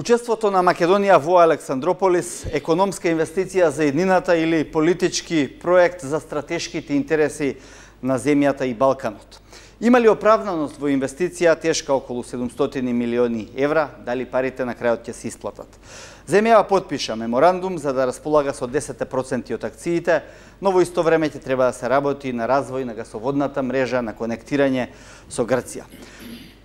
Учеството на Македонија во Александрополис, економска инвестиција за еднината или политички проект за стратешките интереси на земјата и Балканот. Има ли оправданост во инвестиција тешка околу 700 милиони евра, дали парите на крајот ќе се исплатат? Земјава потпиша меморандум за да располага со 10% од акциите, но во исто време ќе треба да се работи на развој на гасоводната мрежа, на конектирање со Грција.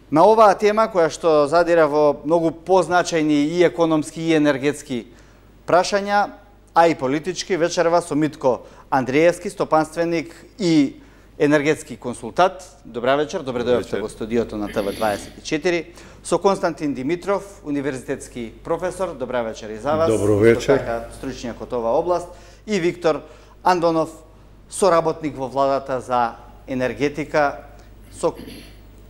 На оваа тема, која што задира во многу позначајни и економски и енергетски прашања, а и политички, вечерва со Митко Андреевски, стопанственик и енергетски консултант. Добра вечер, добре дојавте во студиото на ТВ24. Со Константин Димитров, универзитетски професор. Добра вечер и за вас. Добро вечер. Така стручњак од оваа област. И Виктор Андонов, соработник во владата за енергетика. Со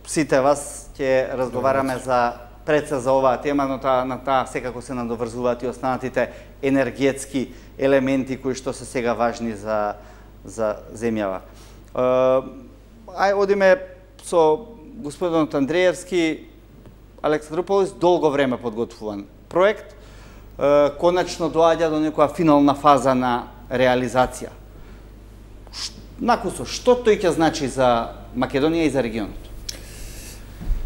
сите вас ќе разговараме за предса за оваа тема, но на таа секако се надоврзуваат и останатите енергетски елементи кои што се сега важни за земјава. Одиме со господинот Андреевски. Александрополис долго време подготвуван проект, конечно доаѓа до некоја финална фаза на реализација. Накусо, што тој ќе значи за Македонија и за регионот?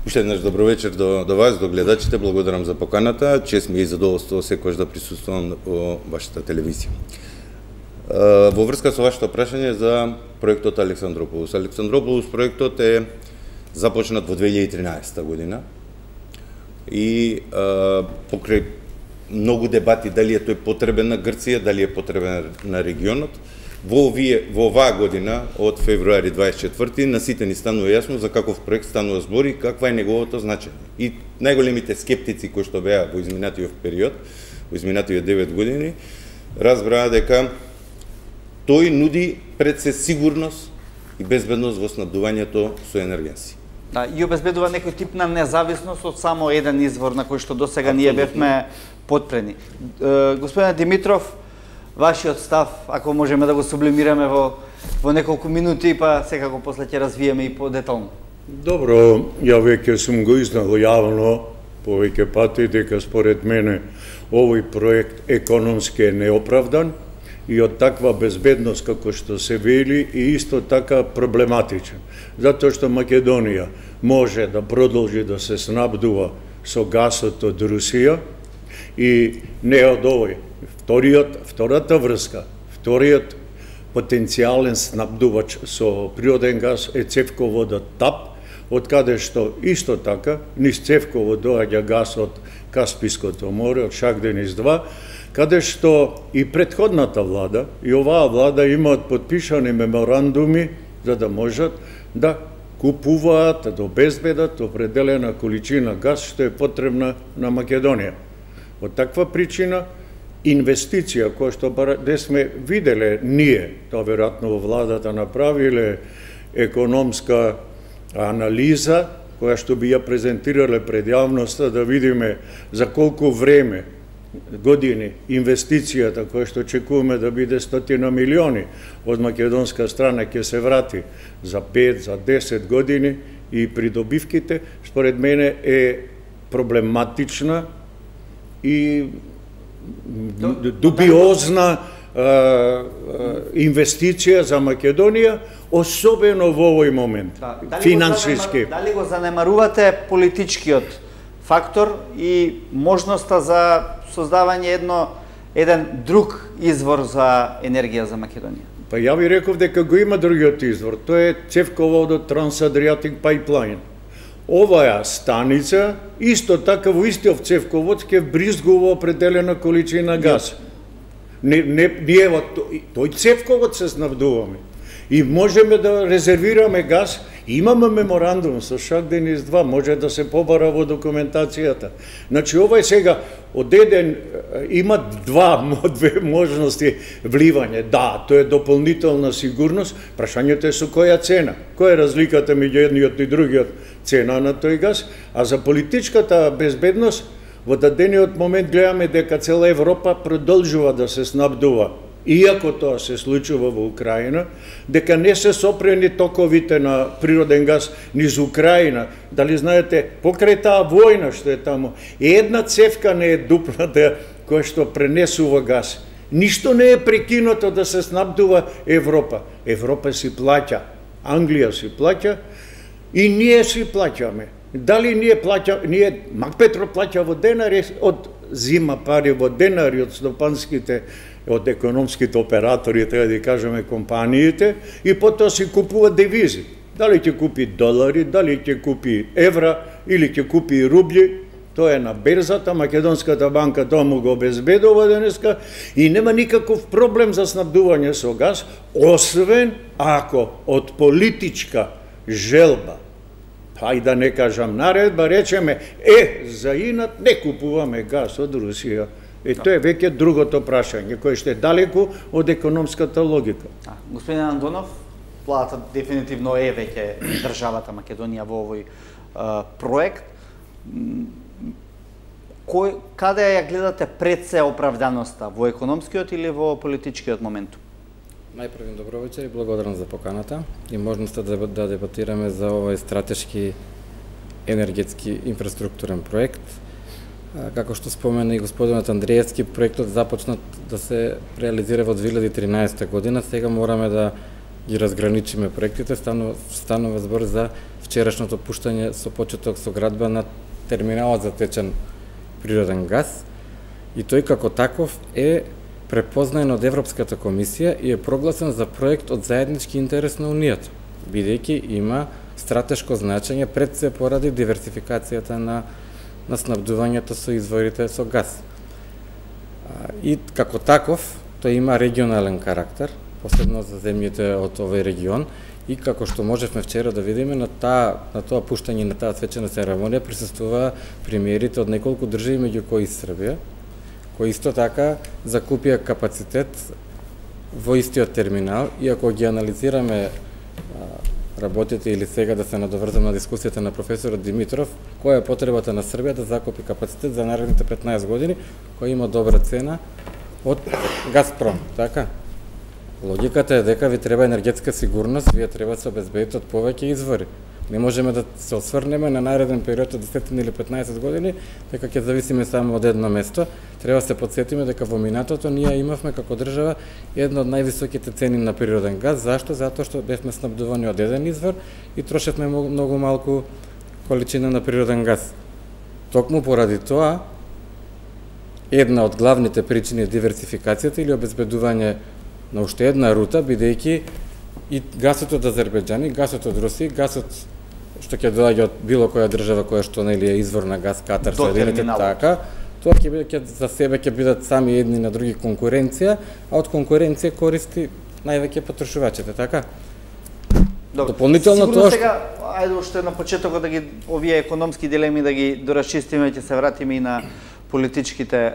Уште еднаш добро вечер до вас, до гледачите. Благодарам за поканата. Чест ми е и задоволство секогаш да присуствувам во вашата телевизија. Во врска со вашето прашање за проектот Александрополис. Александрополис проектот е започнат во 2013 година и покрај многу дебати дали е тој потребен на Грција, дали е потребен на регионот, во оваа година, од февруари 24, на сите ни станува јасно за каков проект станува збор и каква е неговото значење. И најголемите скептици кои што беа во изминатиот период, во изминатиот 9 години, разбраа дека тој нуди пред се сигурност и безбедност во снабдувањето со енергенси. Да, и обезбедува некој тип на независност од само еден извор на кој што досега ние бевме потпрени. Господин Димитров, вашиот став, ако можеме да го сублимираме во неколку минути, па секако после ќе развиеме и подетално. Добро, ја веќе сум го изнал јавно повеќе пати дека според мене овој проект економски е неоправдан и од таква безбедност како што се вели и исто така проблематичен. Затоа што Македонија може да продолжи да се снабдува со гасот од Русија и не од овој. Втората врска, вториот потенцијален снабдувач со природен газ е цевководот ТАП, од каде што исто така низ цевковод доаѓа газ од Каспиското море, од Шагденис 2, каде што и претходната влада и оваа влада имаат подпишани меморандуми за да можат да купуваат, да обезбедат определена количина газ што е потребна на Македонија. Од таква причина инвестиција која што де сме виделе ние, тоа веројатно во владата направиле економска анализа која што би ја презентирале пред јавноста да видиме за колку време години инвестицијата која што очекуваме да биде 100 милиони од македонска страна ќе се врати за 5, за 10 години и придобивките според мене е проблематична и дубиозна инвестиција за Македонија, особено во овој момент, финансиски. Дали го занемарувате политичкиот фактор и можноста за создавање еден друг извор за енергија за Македонија? Па ја ви реков дека го има другиот извор, тоа е цевководот Trans-Adriatic Pipeline. Оваа станица, исто така во истиот цевковод ќе бризгува определена количина газ. Ние во тој цевковод се снабдуваме. И можеме да резервираме газ. Имаме меморандум со Шагденис 2, може да се побара во документацијата. Значи, ова е сега, од еден, има две можности вливање. Да, тоа е дополнителна сигурност, прашањето е со која цена. Која е разликата меѓу едниот и другиот цена на тој газ? А за политичката безбедност, во дадениот момент гледаме дека цела Европа продолжува да се снабдува иако тоа се случува во Украина, дека не се сопрени токовите на природен газ низ Украина. Дали знаете, покрај таа војна што е таму, една цевка не е дупната која што пренесува газ. Ништо не е прекинато да се снабдува Европа. Европа си плаќа, Англија си плаќа и ние си плаќаме. Дали ние Макпетро плаќа во денари, од зима пари во денари од стопанските, од економските оператори, треба да кажеме компаниите, и потоа си купува девизи. Дали ќе купи долари, дали ќе купи евра или ќе купи рубли, тоа е на берзата, Македонската банка тоа му го обезбедува денеска и нема никаков проблем за снабдување со газ, освен ако од политичка желба, па и да не кажам наредба, речеме, за инат не купуваме газ од Русија. Тоа е веќе другото прашање, кое што е далеку од економската логика. Господин Андонов, владата дефинитивно е веќе државата Македонија во овој проект. Каде ја гледате пред се оправданоста, во економскиот или во политичкиот момент? Најпрво добро вечер и благодарам за поканата и можноста да дебатираме за овој стратешки енергетски инфраструктурен проект. Како што спомена и господинот Андреевски, проектот започнат да се реализира во 2013 година. Сега мораме да ги разграничиме проектите. Станува збор за вчерашното пуштање со почеток со градба на терминалот за течен природен газ. И тој како таков е препознаен од Европската комисија и е прогласен за проект од заеднички интерес на Унијата, бидејќи има стратешко значење пред се поради диверсификацијата на снабдувањето со изворите со газ. И како таков, тој има регионален карактер, посебно за земјите од овој регион, и како што можевме вчера да видиме на тоа пуштање, на таа свечена церемонија присуствува премиерите од неколку држави, меѓу кои Србија, кои исто така закупија капацитет во истиот терминал, и ако ги анализираме работите или сега да се надоврзам на дискусијата на професорот Димитров, која е потребата на Србија да закупи капацитет за наредните 15 години, која има добра цена од Газпром, така? Логиката е дека ви треба енергетска сигурност, вие треба да се обезбедите од повеќе извори. Не можеме да се осврнеме на нареден период од 10 или 15 години, дека ќе зависиме само од едно место. Треба да се потсетиме дека во минатото ние имавме како држава една од највисоките цени на природен газ. Зашто? Затоа што бевме снабдувани од еден извор и трошевме многу малку количина на природен газ. Токму поради тоа, една од главните причини е диверсификацијата или обезбедување на уште една рута, бидејќи и гасот од Азербејџан, и гасот од Русија, гасот што ќе доаѓа од било која држава која што нели е извор на газ, Катар, Соединените, така, тоа ќе за себе ќе бидат сами едни на други конкуренција, а од конкуренција користи највеќе потрошувачите, така? Дополнително тоа сега, ајде уште на почетокот да ги овие економски дилеми да ги доразчистиме, ќе се вратиме и на политичките.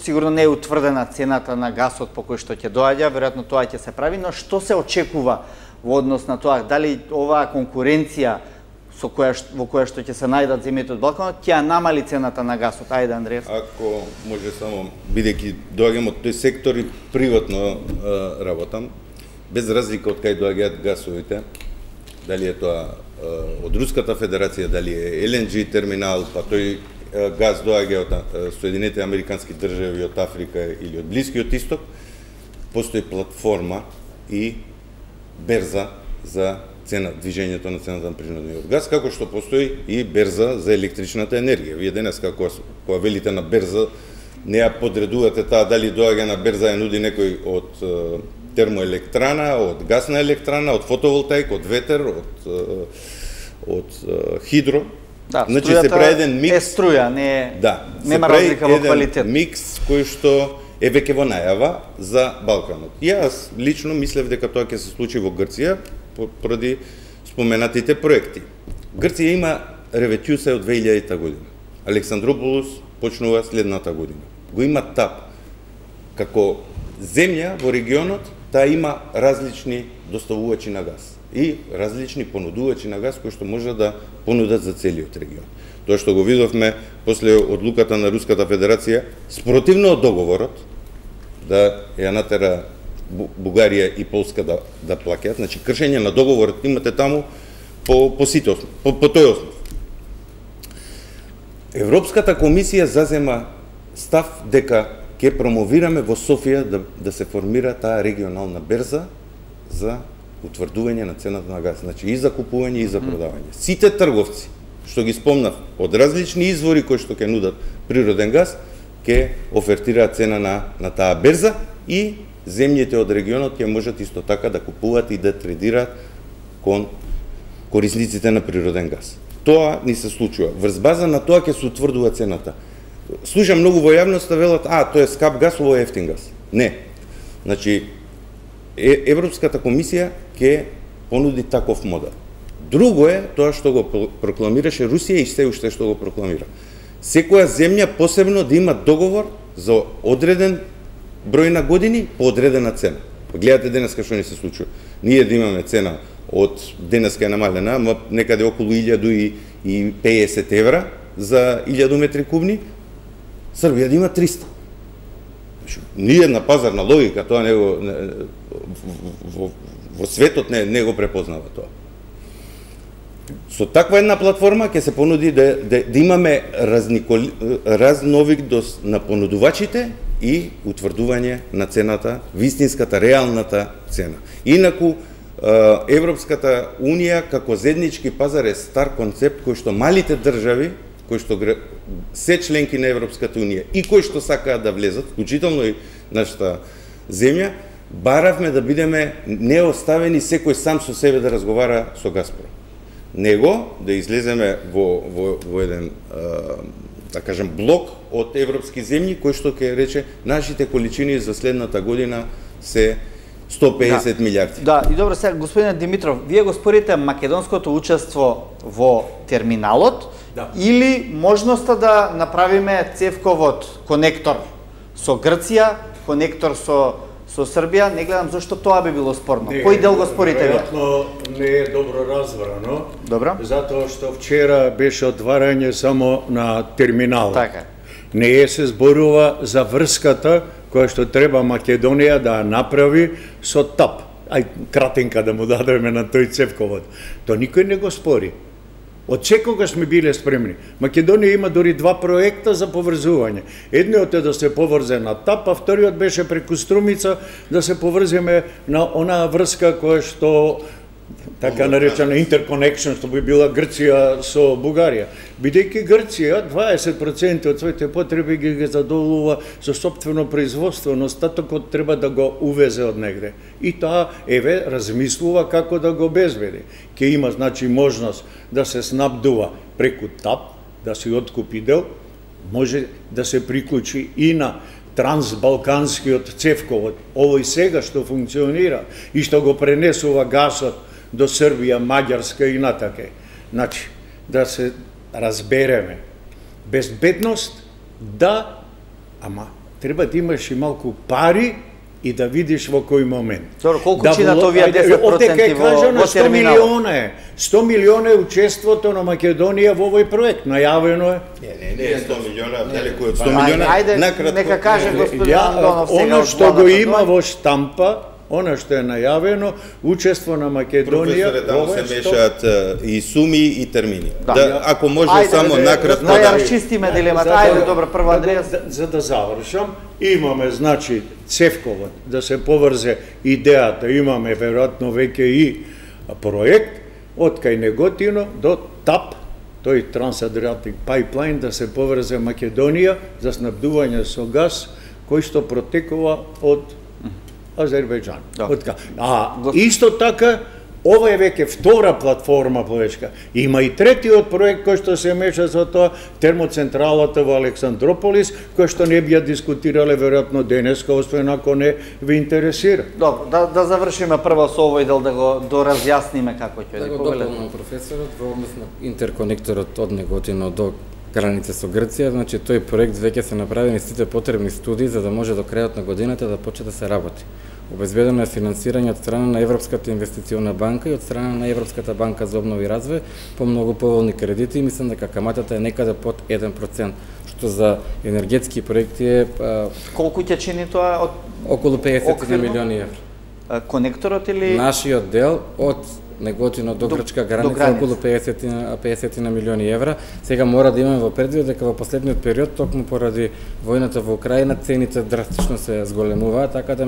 Сигурно не е утврдена цената на гасот по кој што ќе доаѓа, веројатно тоа ќе се прави, но што се очекува во однос на тоа? Дали оваа конкуренција во која што ќе се најдат земјите од Балканот ќе намали цената на гасот? Ајде, Андреевски. Ако може само, бидејќи доаѓам од тој сектор и приватно работам, без разлика од кај доаѓаат гасовите, дали е тоа од Руската Федерација, дали е LNG терминал, па тој газ доаѓа од Соединените Американски држави, од Африка или од Блискиот Исток, постои платформа и берза за движењето на цената на природниот газ, како што постои и берза за електричната енергија. Вие денес кога велите на берза, не ја подредувате таа дали доаѓа на берза ја нуди некој од термоелектрана, од гасна електрана, од фотоволтаик, од ветер, од хидро. Да, значи се прави еден микс. Е струја, нема разлика во квалитет. Микс кој што е веќе во најава за Балканот. Јас лично мислев дека тоа ќе се случи во Грција поради споменатите проекти. Грција има реветјуса од 2000 година. Александрополос почнува следната година. Го има ТАП. Како земја во регионот, таа има различни доставувачи на газ и различни понудувачи на газ кои што може да понудат за целиот регион. Тоа што го видовме после одлуката на Руската Федерација, спротивно од договорот, да ја натера Бугарија и Полска да плаќаат, значи кршење на договорот имате таму по сите основ, по тој основ. Европската комисија зазема став дека ќе промовираме во Софија да се формира таа регионална берза за утврдување на цената на газ, значи и за купување и за продавање. Сите трговци, што ги спомнав, од различни извори кои што ќе нудат природен газ, ќе офертираат цена на таа берза и земјите од регионот ќе можат исто така да купуваат и да тредираат кон корисниците на природен газ. Тоа ни се случува. Врз база на тоа ќе се утврдува цената. Слушам многу во јавноста велат, тоа е скап газ, ово е ефтин газ. Не. Значи, Европската комисија ќе понуди таков модел. Друго е тоа што го прокламираше Русија и се уште што го прокламира. Секоја земја посебно да има договор за одреден број на години по одредена цена. Гледате денеска што ни се случува. Ние да имаме цена од денеска е намалена, ама некаде околу 1050 евра за 1000 метри кубни, Србија да има 300. Ние на пазарна логика тоа не го во светот не го препознава тоа. Со таква една платформа ќе се понуди да имаме разновидност на понудувачите и утврдување на цената, вистинската, реалната цена. Инаку, Европската Унија како заеднички пазар е стар концепт кој што малите држави, кои што се членки на Европската Унија и кои што сакаат да влезат, вклучително и нашата земја, баравме да бидеме неоставени секој сам со себе да разговара со Газпром. Него да излеземе во еден, да кажем, блок од европски земји кој што ќе рече нашите количини за следната година се 150 милиарди. Да, и добро сега, господине Димитров, вие го спорите македонското учество во терминалот или можноста да направиме цевковод конектор со Грција, конектор со Србија, не гледам зашто тоа би било спорно. Кој дел го спорите вие? Веројатно не е добро разбрано. Добро. Затоа што вчера беше отварање само на терминалот. Така. Не е се зборува за врската која што треба Македонија да направи со ТАП. Ај кратенка да му дадеме на тој цевковод. Тоа никој не го спори. Од секогаш сме биле спремни. Македонија има дори 2 проекта за поврзување. Едниот е да се поврзе на ТАП, а вториот беше преку Струмица да се поврземе на онаа врска која што така наречена интерконекшн, што би била Грција со Бугарија. Бидејќи Грција 20% од своите потреби ги задоволува со сопствено производство, но остатокот треба да го увезе од негде. И таа еве размислува како да го обезбеди. Ке има значи можност да се снабдува преку ТАП, да се откупи дел, може да се приклучи и на трансбалканскиот цевковод, овој сега што функционира и што го пренесува гасот до Србија, Маѓарска и натаке. Значи, да се разбереме. Безбедност, да, ама треба да имаш и малку пари и да видиш во кој момент. Добро, колку чинат овие 10% во терминалот? 100 милиона е учеството на Македонија во овој проект. Најавено е. Не, 100 милиона, далеку од 100 милиона. Ајде, нека каже господин Андонов сега. Оно што го има во штампа, она што е најавено, учество на Македонија, Професоре, се мешаат и суми и термини. Ако може само накратко да ја расчистиме дилемата. Ајде, добро, прво Андреас. За да завршам, имаме значи цевковод да се поврзе идејата, имаме веројатно веќе и проект од кај Неготино до ТАП, тој Трансадриатик Пайплайн, да се поврзе Македонија за снабдување со газ кој што протекува од Азербејџан. Исто така, ова е веќе втора платформа повечка. Има и третиот проект кој што се меша со тоа, термоцентралата во Александрополис, кој што не би ја дискутирале веројатно денеска, освен ако не ви интересира. Добро, да завршиме прво со овој дел, да го доразјасниме како ќе да го дополнам професорот во однос на интерконекторот од Неготино до граница со Грција, значи тој проект веќе се направени сите потребни студии за да може до крајот на годината да почне да се работи. Обезбедено е финансирање од страна на Европската инвестициона банка и од страна на Европската банка за обнова и развој по многу поволни кредити и мислам дека каматата е некаде под 1%, што за енергетски проекти е Колку ќе чини тоа од околу 50 оквирно? милиони евра. Конекторот или Нашиот дел од Неготино до грчка граница околу 50 милиони евра. Сега мора да имаме во предвид дека во последниот период, токму поради војната во Украина, цените драстично се зголемуваат, така да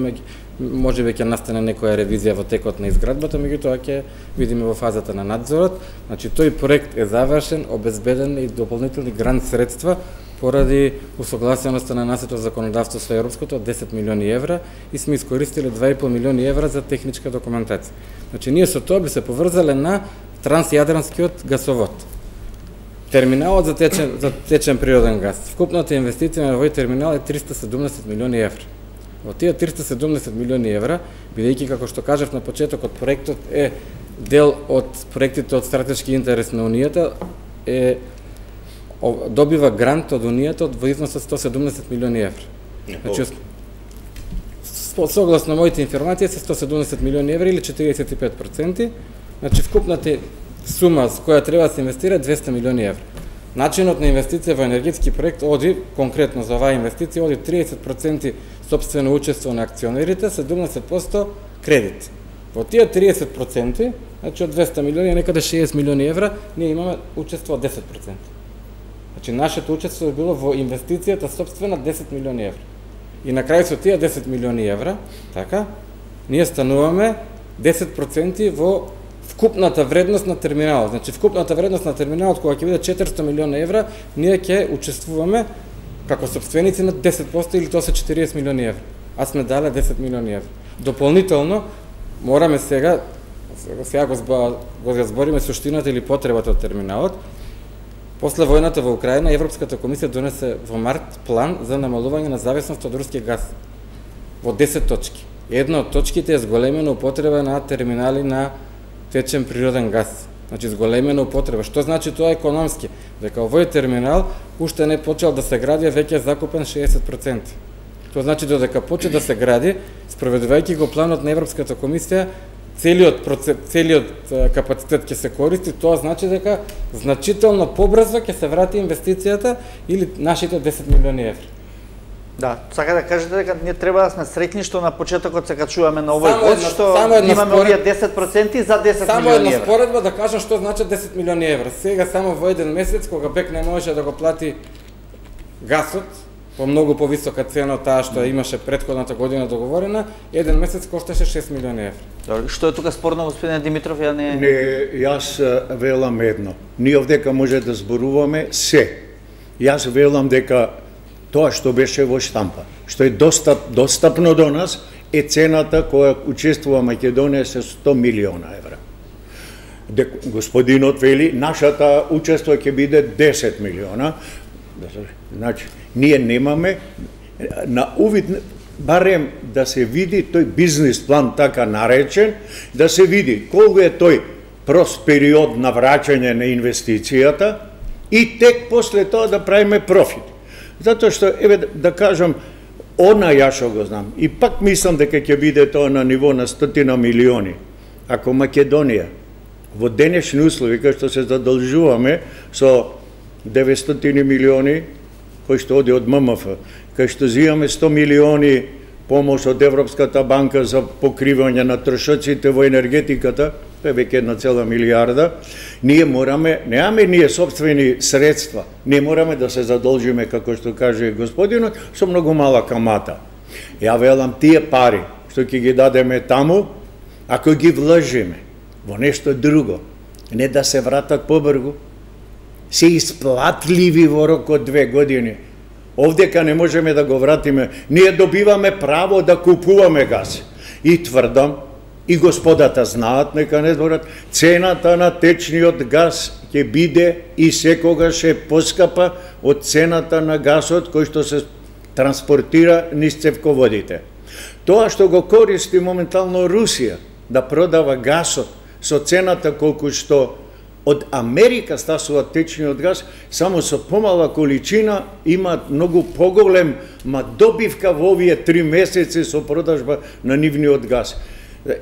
можеби ќе настане некоја ревизија во текот на изградбата, меѓутоа ќе видиме во фазата на надзорот. Значи тој проект е завршен, обезбеден и дополнителни грант средства поради усогласеноста на нашето законодавство со европското од 10 милиони евра и сме искористиле 2,5 милиони евра за техничка документација. Значи ние со тоа би се поврзале на трансјадранскиот гасовод. Терминалот за течен природен газ. Вкупната инвестиција на овој терминал е 370 милиони евра. Во тие 370 милиони евра, бидејќи како што кажав на почетокот, проектот е дел од проектите од стратешки интерес на Унијата, добива грант од Унијата во износ од 170 милиони евра. Значи, согласно моите информации се 170 милиони евра или 45%. Значи вкупната сума с која треба да се инвестира 200 милиони евра. Начинот на инвестиција во енергетски проект оди, конкретно за оваа инвестиција, оди 30% собствено учество на акционерите, 70% кредит. Во тие 30%, значи од 200 милиони, некаде 60 милиони евра, ние имаме учество од 10%. Значи нашето учество е било во инвестицијата собствена 10 милиони евра. И на крај со тие 10 милиони евра, така, ние стануваме 10% во вкупната вредност на терминалот. Значи вкупната вредност на терминалот кога ќе биде 400 милиона евра, ние ќе учествуваме како собственици на 10% или тоа се 40 милиони евра. А сме дале 10 милиони евра. Дополнително мораме сега го збориме суштината или потребата од терминалот. После војната во Украина, Европската комисија донесе во март план за намалување на зависност од руски газ во 10 точки. Една од точките е зголемена употреба на терминали на течен природен газ. Значи зголемена употреба. Што значи тоа економски? Дека овој терминал уште не почел да се гради, веќе е закупен 60%. Тоа значи додека почне да се гради, спроведувајќи го планот на Европската комисија, целиот капацитет ќе се користи, тоа значи дека значително побрзо ќе се врати инвестицијата или нашите 10 милиони евра. Да, сака да кажете дека ние треба да сме среќни што на почетокот се качуваме на овој пост, што имаме овие 10% за 10 милиони евра. Само една споредба да кажам што значи 10 милиони евра. Сега само во еден месец, кога БЕК не можеше да го плати гасот, по многу повисока цена од таа што имаше претходната година договорена, еден месец кошташе 6 милиони евра. Добре, што е тука спорно, господине Димитров? Не, јас велам едно. Ние овдека може да зборуваме се. Јас велам дека тоа што беше во штампа, што е достапно до нас, е цената која учествува Македонија се 100 милиона евра. Господинот вели, нашата учество ќе биде 10 милиона. Значи, ние немаме на увид, барем да се види тој бизнес план така наречен, да се види колку е тој прост период на враќање на инвестицијата и тек после тоа да правиме профит. Затоа што, еве да кажам, она ја што го знам, и пак мислам дека ќе биде тоа на ниво на 100 милиони. Ако Македонија во денешни услови, кај што се задолжуваме со 900 милиони, кој што оди од ММФ, кај што зимаме 100 милиони помош од Европската банка за покривање на трошоците во енергетиката, тоа е веќе 1,1 милиарда, ние мораме, немаме ние собствени средства, ние мораме да се задолжиме, како што каже господинот, со многу мала камата. Ја велам, тие пари што ќе ги дадеме таму, ако ги вложиме во нешто друго, не да се вратат побрзо, се исплатливи во рок од 2 години. Овдека не можеме да го вратиме. Ние добиваме право да купуваме газ. И тврдам, и господата знаат, нека не зборат, цената на течниот газ ќе биде и секогаш е поскапа од цената на газот кој што се транспортира низ цевководите. Тоа што го користи моментално Русија да продава газот со цената колку што од Америка стасува течниот газ, само со помала количина имаат многу поголем добивка во овие 3 месеци со продажба на нивниот газ.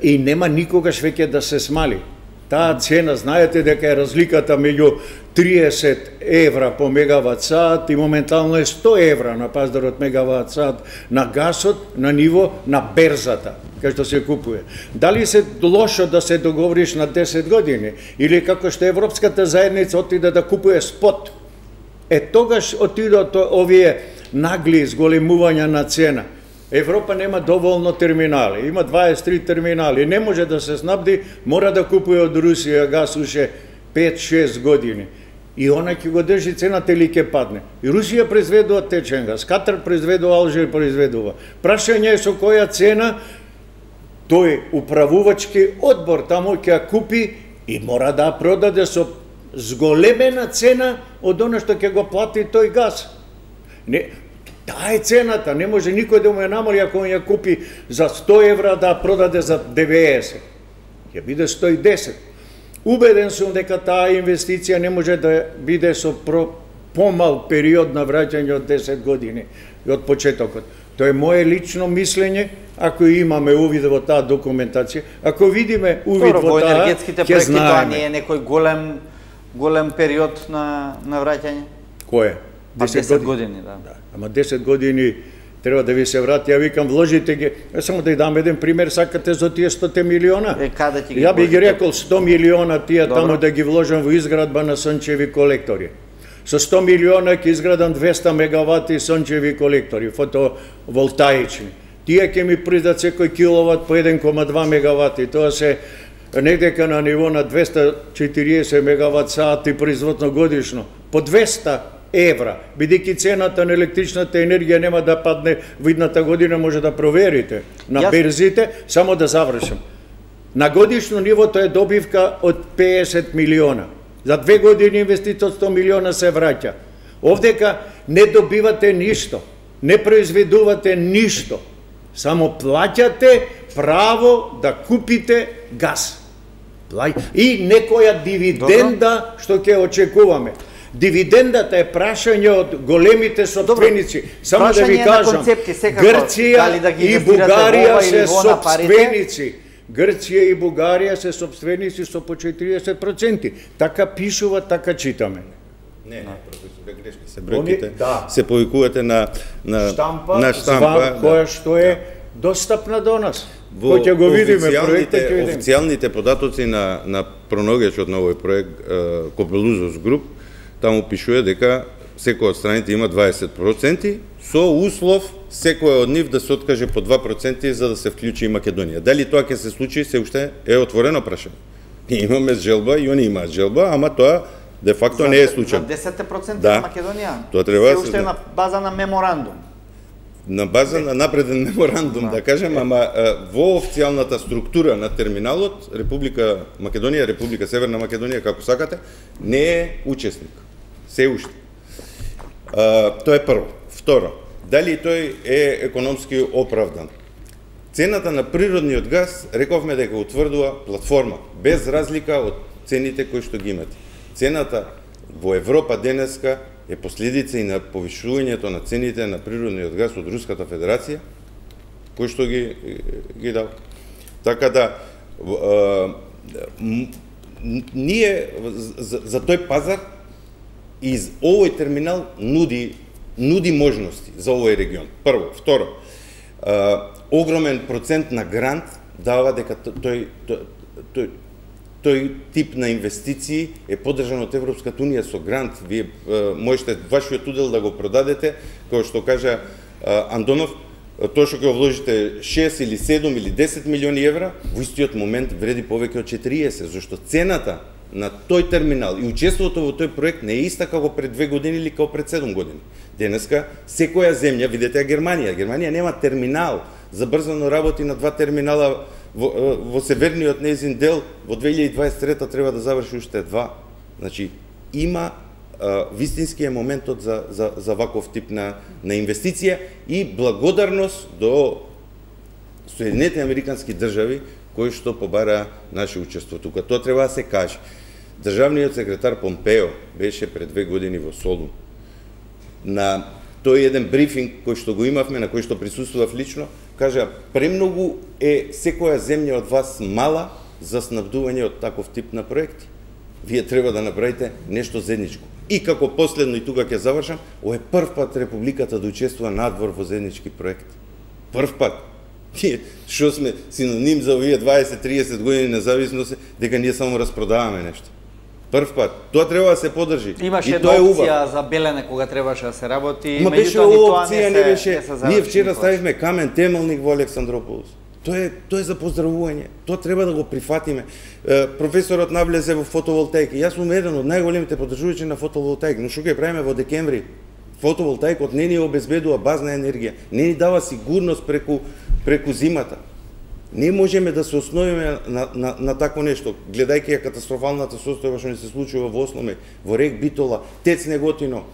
И нема никогаш веќе да се смали. Таа цена, знаете дека е разликата меѓу 30 евра по мегават сат и моментално е 100 евра на пазарот мегават сат на гасот на ниво на берзата, кај што се купува. Дали се лошо да се договориш на 10 години или како што Европската заедница отиде да купува спот? Тогаш отидат овие нагли зголемувања на цена. Европа нема доволно терминали, има 23 терминали, не може да се снабди, мора да купува од Русија газ уште 5-6 години. И она ќе го држи цената или ќе падне. И Русија произведува течен газ, Катар произведува, Алжир произведува. Прашање е со која цена тој управувачки одбор таму ќе ја купи и мора да ја продаде со зголемена цена од оно што ќе го плати тој газ. Не, таа е цената, не може никој да му ја намали ако ја купи за 100 евра да продаде за 90. Ќе биде 110. Убеден сум дека таа инвестиција не може да биде со помал период на враќање од 10 години и од почетокот. Тоа е мое лично мислење, ако имаме увид во таа документација, ако видиме увид во таа, енергетските проекти тоа не е некој голем период на враќање? Кој е? 10 години, да. Ама 10 години треба да ви се врати, ја викам вложите ги, само да ја дам еден пример, сакате за тие 100 милиона? Каде ќе ги ја би ги рекол 100 милиона тие таму да ги вложам во изградба на сончеви колектори. Со 100 милиона ќе изградам 200 мегавати сончеви колектори, фотоволтаични. Тие ќе ми придат секој киловат по 1,2 мегавати, тоа се недека на ниво на 240 мегават сати производно годишно, по 200 евра, бидејќи цената на електричната енергија нема да падне во идната година, може да проверите на берзите, само да завршам. На годишно ниво тоа е добивка од 50 милиона. За 2 години инвестиција од 100 милиона се враќа. Овдека не добивате ништо, не произведувате ништо, само плаќате право да купите газ. И некоја дивиденда што ќе очекуваме. Дивидендата е прашање од големите собственици. Само да ви кажам, Грција и Бугарија се собственици. Грција и Бугарија се собственици со по 40%. Така пишува, така читаме. Не, професоре, грешни се бројките. Се повикувате на штампа, која што е достапна до нас. Кој ќе го видиме проектот, ќе видиме. Официјалните податоци на проногечот на овој проект Копелузос Груп, таму пишува дека секој од страните има 20%, со услов секој од нив да се откаже по 2% за да се вклучи и Македонија. Дали тоа ќе се случи, се уште е отворено прашање. Ние имаме желба и они имаат желба, ама тоа де факто не е случај. За 10% на Македонија? Тоа треба се уште на база на меморандум. На база на напреден меморандум, да кажем, ама во официјалната структура на терминалот, Република Македонија, Република Северна Македонија, како сакате, не е учесник. Се уште. Тоа е прво. Второ, дали тој е економски оправдан? Цената на природниот газ, рековме дека утврдува платформа, без разлика од цените кои што ги имате. Цената во Европа денеска е последица и на повишувањето на цените на природниот газ од Руската Федерација, кој што ги дава. Така да, ние за тој пазар и овој терминал нуди можности за овој регион. Прво. Второ, огромен процент на грант дава дека тој тип на инвестиции е поддржан од Европската Унија со грант. Вие можете вашиот удел да го продадете, како што кажа Андонов, тоа што ќе вложите 6 или 7 или 10 милиони евра, во истиот момент вреди повеќе од 40, зашто цената на тој терминал и учеството во тој проект не е иста како пред 2 години или како пред 7 години. Денеска секоја земја, видете Германија, Германија нема терминал, забрзано работи на 2 терминала во северниот нејзин дел, во 2023 треба да заврши уште 2. Значи, има вистински е моментот за ваков тип на инвестиција и благодарност до Соединетите Американски држави кои што побара наше учество тука. Тоа треба да се каже. Државниот секретар Помпео беше пред 2 години во Солун. На тој еден брифинг кој што го имавме, на кој што присуствував лично, кажа, премногу е секоја земја од вас мала за снабдување од таков тип на проекти. Вие треба да направите нешто заедничко. И како последно, и тука ќе завршам, ова е прв пат Републиката да учествува надвор во заеднички проект. Прв пат. Што сме синоним за овие 20-30 години независност, дека ние само распродаваме нешто. Прв пат. Тоа треба да се подржи. Имаше една опција за Белене кога требаше да се работи. Ма беше опција, не беше. Ние вчера ставивме камен темелник во Александрополис. Тоа е за поздравување. Тоа треба да го прифатиме. Професорот навлезе во фотоволтаика. Јас сум еден од најголемите поддржувачи на фотоволтаик, но што ќе правиме во декември? Фотоволтаикот не ни обезбедува базна енергија, не ни дава сигурност преку зимата. Не можеме да се основиме на такво нешто, гледајќи ја катастрофалната состојба што ни се случува во Осломе, во Рек Битола, Тец Неготино.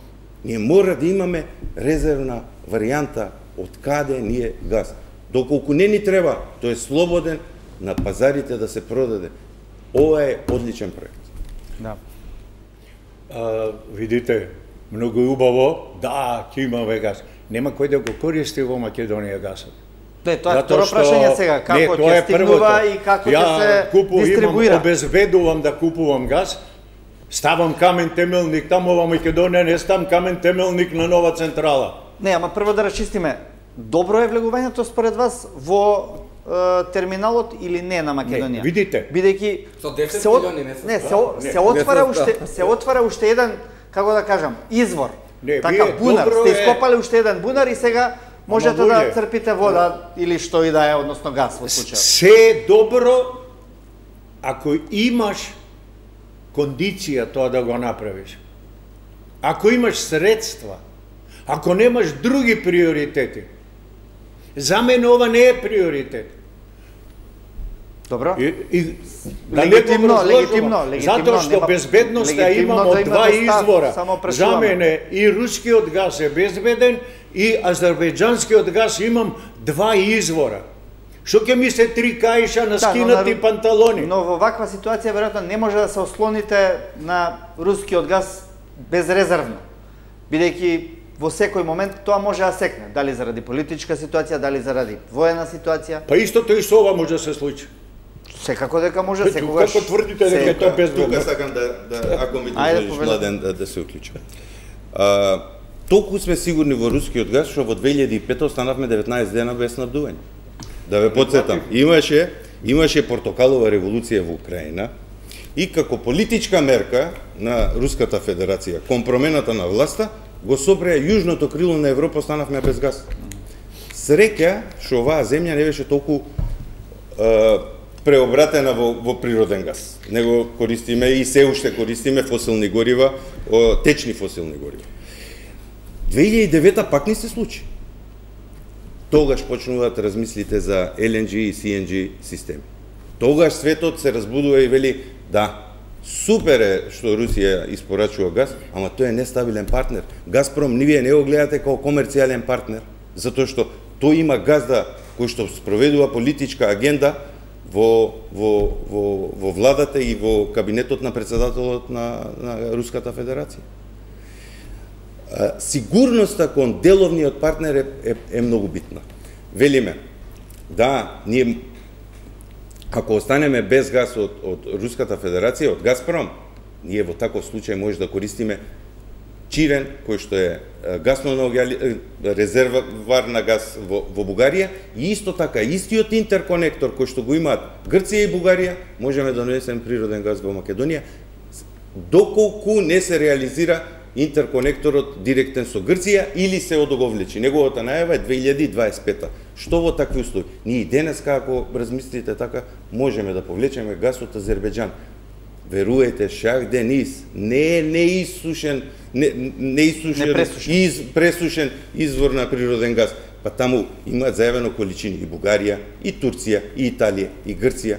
Ние мора да имаме резервна варијанта од каде ни е газ. Доколку не ни треба, тој е слободен на пазарите да се продаде. Ова е одличен проект. Да. Видите, многу убаво, да, ќе имаме газ. Нема кој да го користи во Македонија газот. Тоа е второ прашање сега, како ќе стигнува и како ќе се дистрибуира. Ја обезбедувам да купувам газ, ставам камен темелник таму во Македонија, не ставам камен темелник на нова централа. Не, ама прво да расчистиме. Добро е влегувањето според вас во терминалот или не на Македонија? Не, видите. Бидејќи со 10 милиони не се отвара уште еден, како да кажам, извор. Не, така бунар, сте ископале уште еден бунар и сега можете да црпите вода или што и да е, односно газ во случајот. Се е добро ако имаш кондиција тоа да го направиш. Ако имаш средства, ако немаш други приоритети. За мене ова не е приоритет. Добро. Легитимно. Затоа што безбедноста имам од два извора. За мене и рускиот газ е безбеден и азербејџанскиот газ имам два извора. Што ќе ми се три каиша на скинати панталони? Но во ваква ситуација веројатно не може да се ослоните на рускиот газ безрезервно. Бидејќи во секој момент тоа може да секне, дали заради политичка ситуација, дали заради воена ситуација. Па истото и со ова може да се случи. Секако дека може, секогаш. Како тврдите дека тоа безбедно? Тука сакам ако ми дозволиш, Младен, да се уклучам. Толку сме сигурни во рускиот газ што во 2005 останавме 19 дена без снабдување. Да ве потсетам, имаше портокалова револуција во Украина и како политичка мерка на Руската Федерација кон промената на власта го сопреа јужното крило на Европа, останавме без газ. Среќа што оваа земја не беше толку преобратена во природен газ. Него користиме и се уште користиме фосилни горива, течни фосилни горива. 2009 пак не се случи. Тогаш почнуваат размислите за LNG и CNG системи. Тогаш светот се разбудува и вели, да, супер е што Русија испорачува газ, ама тој е нестабилен партнер. Газпром вие не го гледате како комерцијален партнер, затоа што тој има газда кој што спроведува политичка агенда во владата и во кабинетот на председателот на Руската Федерација. Сигурноста кон деловниот партнер е многу битна. Велиме, да, ние ако останеме без газ од Руската Федерација, од Газпром, ние во таков случај може да користиме Чирен, кој што е резервар на газ во Бугарија, и исто така, истиот интерконектор кој што го имаат Грција и Бугарија, можеме да донесеме природен газ во Македонија, доколку не се реализира интерконекторот директен со Грција или се одоговлечи. Неговата најава е 2025. Што во такви услови? Ние денес, ако размислите така, можеме да повлечеме газ од Азербејџан. Веруете, Шах Дениз не е пресушен извор на природен газ. Па таму имаат зајавено количини и Бугарија, и Турција, и Италија, и Грција.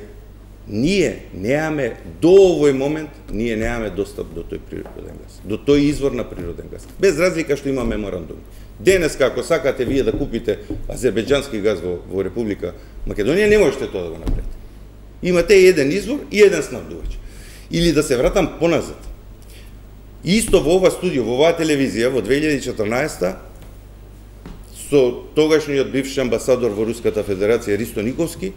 Ние немаме, до овој момент, ние немаме достап до тој природен газ, до тој извор на природен газ. Без разлика што има меморандум. Денес, ако сакате вие да купите азербејџански газ во Република Македонија, не можете тоа да го направите. Имате еден извор и еден снабдувач. Или да се вратам поназад. Исто во ова студио, во оваа телевизија, во 2014 со тогашниот бивш амбасадор во Руската Федерација Ристо Никовски,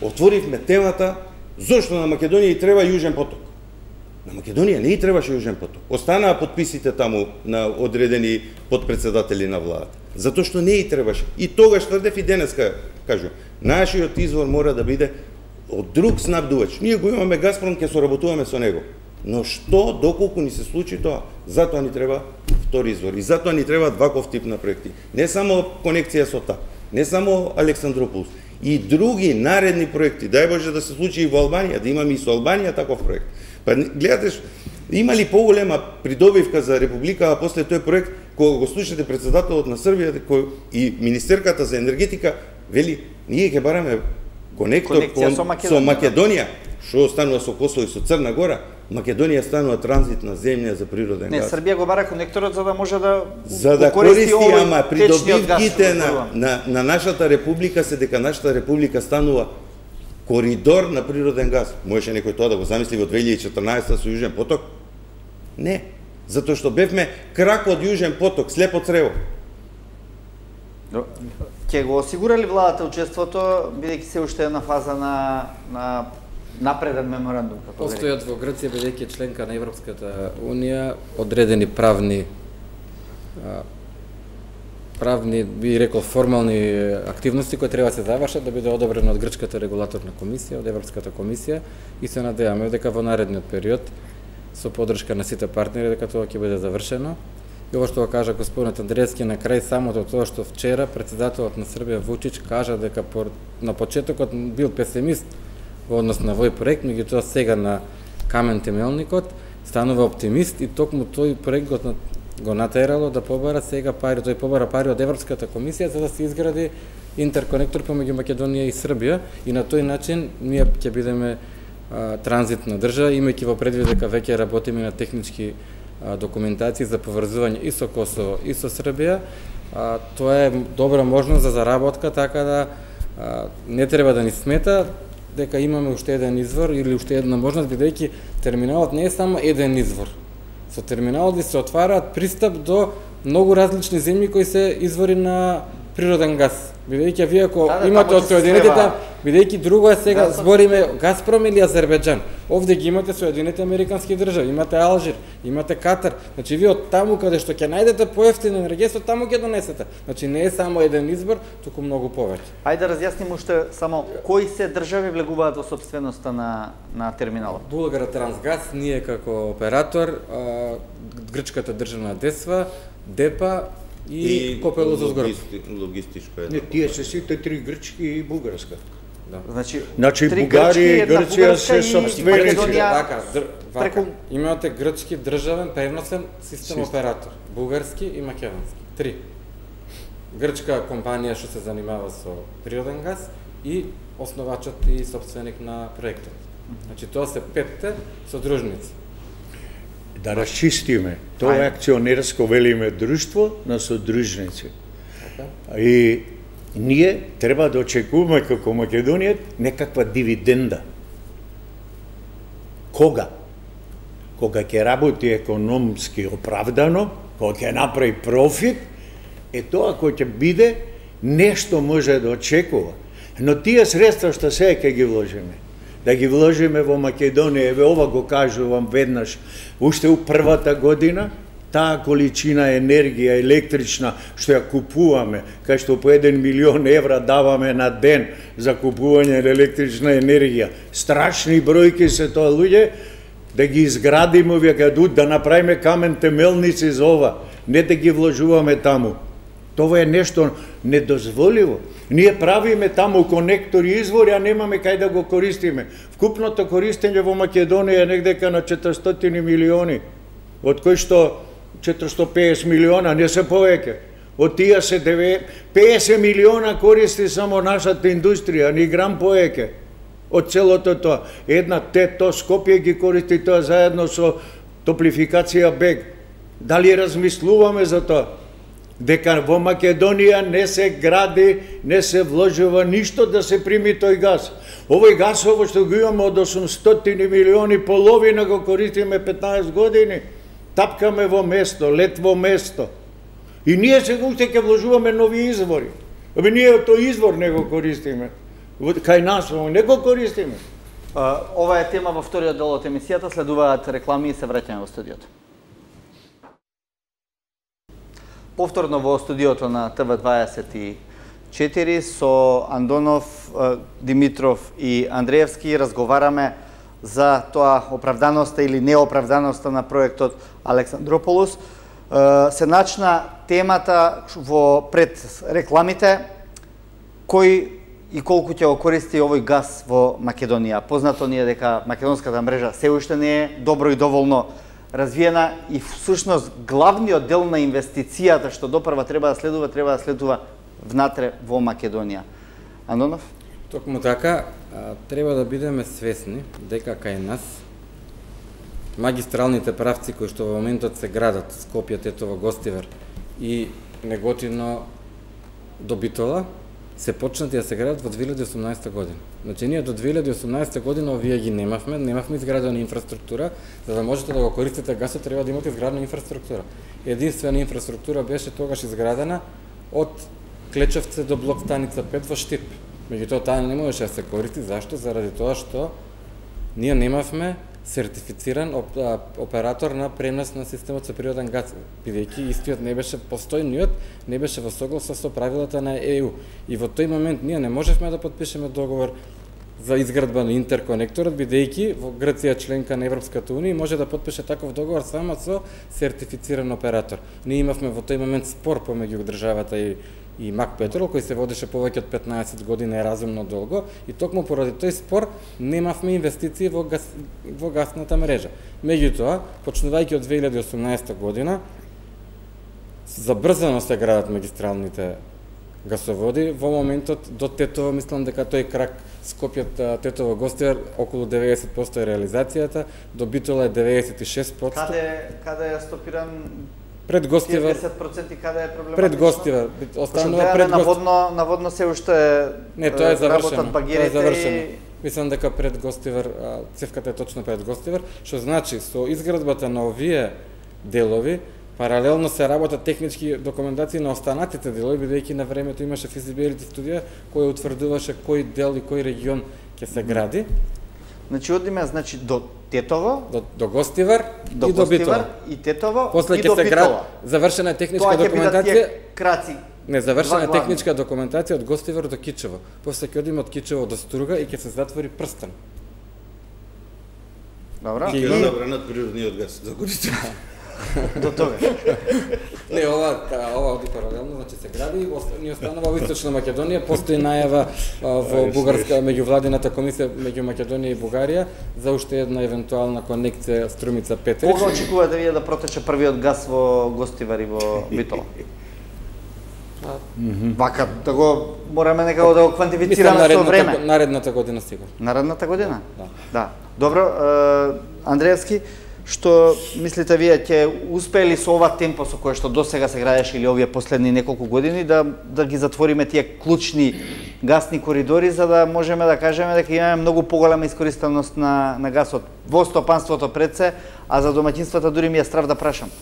отворивме темата Зошто на Македонија и треба Јужен поток? На Македонија не и требаше Јужен поток. Останаа подписите таму на одредени подпредседатели на владата. Затоа што не и требаше. И тогаш тврдев и денеска кажу, нашиот извор мора да биде од друг снабдувач. Ние го имаме Газпром, ќе соработуваме со него. Но што доколку ни се случи тоа? Затоа ни треба втори извор. И затоа ни треба ваков тип на проекти. Не само конекција со ТАП, не само Александрополис, и други наредни проекти. Дај Боже да се случи и во Албанија, да имаме и со Албанија таков проект. Па гледате, има ли поголема придобивка за Република, а после тој проект, кога го слушате председателот на Србија и министерката за енергетика, вели, ние ќе бараме конектор со Македонија, што останува со Косово и со Црна Гора, Македонија станува транзитна земја за природен газ. Не, Србија го бара конекторот за да може да користи, ама придобивките на нашата република се дека нашата република станува коридор на природен газ. Можеше некој тоа да го замисли во 2014 со Јужен поток? Не, затоа што бевме крак од Јужен поток, слепо црево. Ќе го осигура ли владата учеството, бидејќи се уште една фаза на напреден меморандум? Постојат во Грција, бидејќи членка на Европската Унија, одредени правни, би рекол, формални активности кои треба да се завршат да биде одобрено од Грчката регулаторна комисија, од Европската комисија, и се надеваме дека во наредниот период со поддршка на сите партнери дека тоа ќе биде завршено. И ово што го кажа господинот Андреевски на крај, самото тоа што вчера председателот на Србија Вучич кажа дека на почетокот бил песимист во однос на овој проект, меѓутоа сега на камен темелникот станува оптимист и токму тој проект го натерало да побара сега пари, тој побара пари од Европската комисија за да се изгради интерконектор помеѓу Македонија и Србија, и на тој начин ние ќе бидеме транзитна држава, имајќи во предвид дека веќе работиме на технички документации за поврзување и со Косово и со Србија. Тоа е добра можност за заработка, така да не треба да ни смета дека имаме уште еден извор или уште една можност, бидејќи терминалот не е само еден извор. Со терминалот се отвараат пристап до многу различни земји кои се извори на природен газ. Бидејќи вие ако имате од Соединетите, бидејќи друго е сега збориме Газпром или Азербејџан. Овде ги имате Соединетите американски држави, имате Алжир, имате Катар. Значи вие од таму каде што ќе најдете поевтино енергетство, таму ќе донесете. Значи не е само еден избор, туку многу повеќе. Ајде да разјасниме уште само кои се држави влегуваат во сопственоста на терминалот. Булгартрансгаз, ние како оператор, грчката државна ДЕСВА, ДЕПА и Копелозос Город. Логистичко е. Не, тие се сите три грчки и бугарска. Да. Значи Бугарија и Грција се сопственици. Вака, имате грчки државен преносен систем оператор, бугарски и македонски. Три. Грчка компанија што се занимава со природен газ и основачот и сопственик на проектот. Значи тоа се петте содружници. Да расчистиме, тоа е акционерско, велиме, друштво на содружници. И ние треба да очекуваме како Македонија некаква дивиденда. Кога? Кога ќе работи економски оправдано, кога ќе направи профит, тоа кој ќе биде, нешто може да очекува. Но тие средства што сега ќе ги вложиме, да ги вложиме во Македонија, еве ова го кажувам веднаш, уште у првата година, таа количина енергија електрична што ја купуваме, кај што по 1 милион евра даваме на ден за купување на електрична енергија, страшни бројки се тоа, луѓе, да ги изградиме, да направиме камен темелници за ова, не да ги вложуваме таму. Тоа е нешто недозволиво. Ние правиме таму конектори и извори, а немаме кај да го користиме. Вкупното користење во Македонија е негдека на 400 милиони, од кои што 450 милиона, не се повеќе. Од тие се 50 милиона користи само нашата индустрија, ни грам повеќе. Од целото тоа. Една тето Скопје ги користи тоа заедно со Топлификација БЕГ. Дали размислуваме за тоа? Дека во Македонија не се гради, не се вложува ништо да се прими тој газ. Овој газ што го имаме од 800 милиони, половина го користиме 15 години. Тапкаме во место, лет во место. И ние сега уште ќе вложуваме нови извори. Ние тој извор не го користиме. Кај нас не го користиме. Ова е тема во вториот дел од емисијата, следуваат реклами и се враќаме во студиото. Повторно во студиото на ТВ24 со Андонов, Димитров и Андреевски разговараме за тоа оправданоста или неоправданоста на проектот Александрополус. Се начна темата во пред рекламите, кој и колку ќе го користи овој газ во Македонија. Познато ни е дека македонската мрежа се уште не е добро и доволно развиена и всушност главниот дел на инвестицијата што допрва треба да следува внатре во Македонија. Андонов? Токму така, треба да бидеме свесни дека кај нас магистралните правци кои што во моментот се градат, Скопје, Тетово, Гостивар и Неготино до Битола, се почнати да се градат во 2018 година. Значи, ние до 2018 година овие ги немавме изградена инфраструктура, за да можете да го користите гасот треба да имате изградена инфраструктура. Единствена инфраструктура беше тогаш изградена од Клечевце до блок станица 5 во Штип. Меѓутоа таа не можеше да се користи, зашто? Заради тоа што ние немавме сертифициран оператор на пренос на системот со природен газ, бидејќи истиот не беше постојниот, не беше во согласност со правилата на ЕУ. И во тој момент ние не можевме да подпишеме договор за изградба на интерконекторот, бидејќи во Грција членка на Европската унија може да подпише таков договор само со сертифициран оператор. Ние имавме во тој момент спор помеѓу државата и МАК Петрол, кој се водеше повеќе од 15 години, е разумно долго, и токму поради тој спор немавме инвестиции во гасната мрежа. Меѓутоа, почнувајќи од 2018 година, забрзано се градат магистралните гасоводи. Во моментот до Тетово, мислам дека тој крак Скопје, Тетово, Гостивар, околу 90% е реализацијата, до Битола е 96%. Каде е стопиран? Пред Гостивар. 10% каде е проблематично? Пред Гостивар. Останува пред Гостивар. Наводно се уште не, тоа е завршено. Тоа е завршено. Мислам дека пред Гостивар, цевката е точно пред Гостивар, што значи со изградбата на овие делови паралелно се работат технички документации на останатите делови, бидејќи на времето имаше физибилити студија која утврдуваше кој дел и кој регион ќе се гради. Значи одиме до Тетово, до Гостивар и до Битола. И Тетово после и до Битола. Завршена е техничка документација. Краци. Не, завршена е техничка документација од Гостивар до Кичево. После ќе одиме од Кичево до Струга и ќе се затвори прстен. Добра. И ќе забранат природниот газ за користење. До тога. Не, ова оди паралелно, значи се гради и ни останува во Источна Македонија. Постои најава во бугарска меѓувладината комисија меѓу Македонија и Бугарија за уште една евентуална конекција Струмица-Петрич. Кога очекувате вие да протече првиот газ во Гостивар и во Битола? Вака, да го мораме некако да го квантифицираме со време. Наредната година сигурно. Наредната година? Да. Добро, Андреевски, што мислите вие, ќе успеели со ова темпо со кое што досега се градеше или овие последни неколку години да ги затвориме тие клучни гасни коридори за да можеме да кажеме дека имаме многу поголема искористеност на гасот во стопанството пред се, а за домаќинствата дури ми е страв да прашам.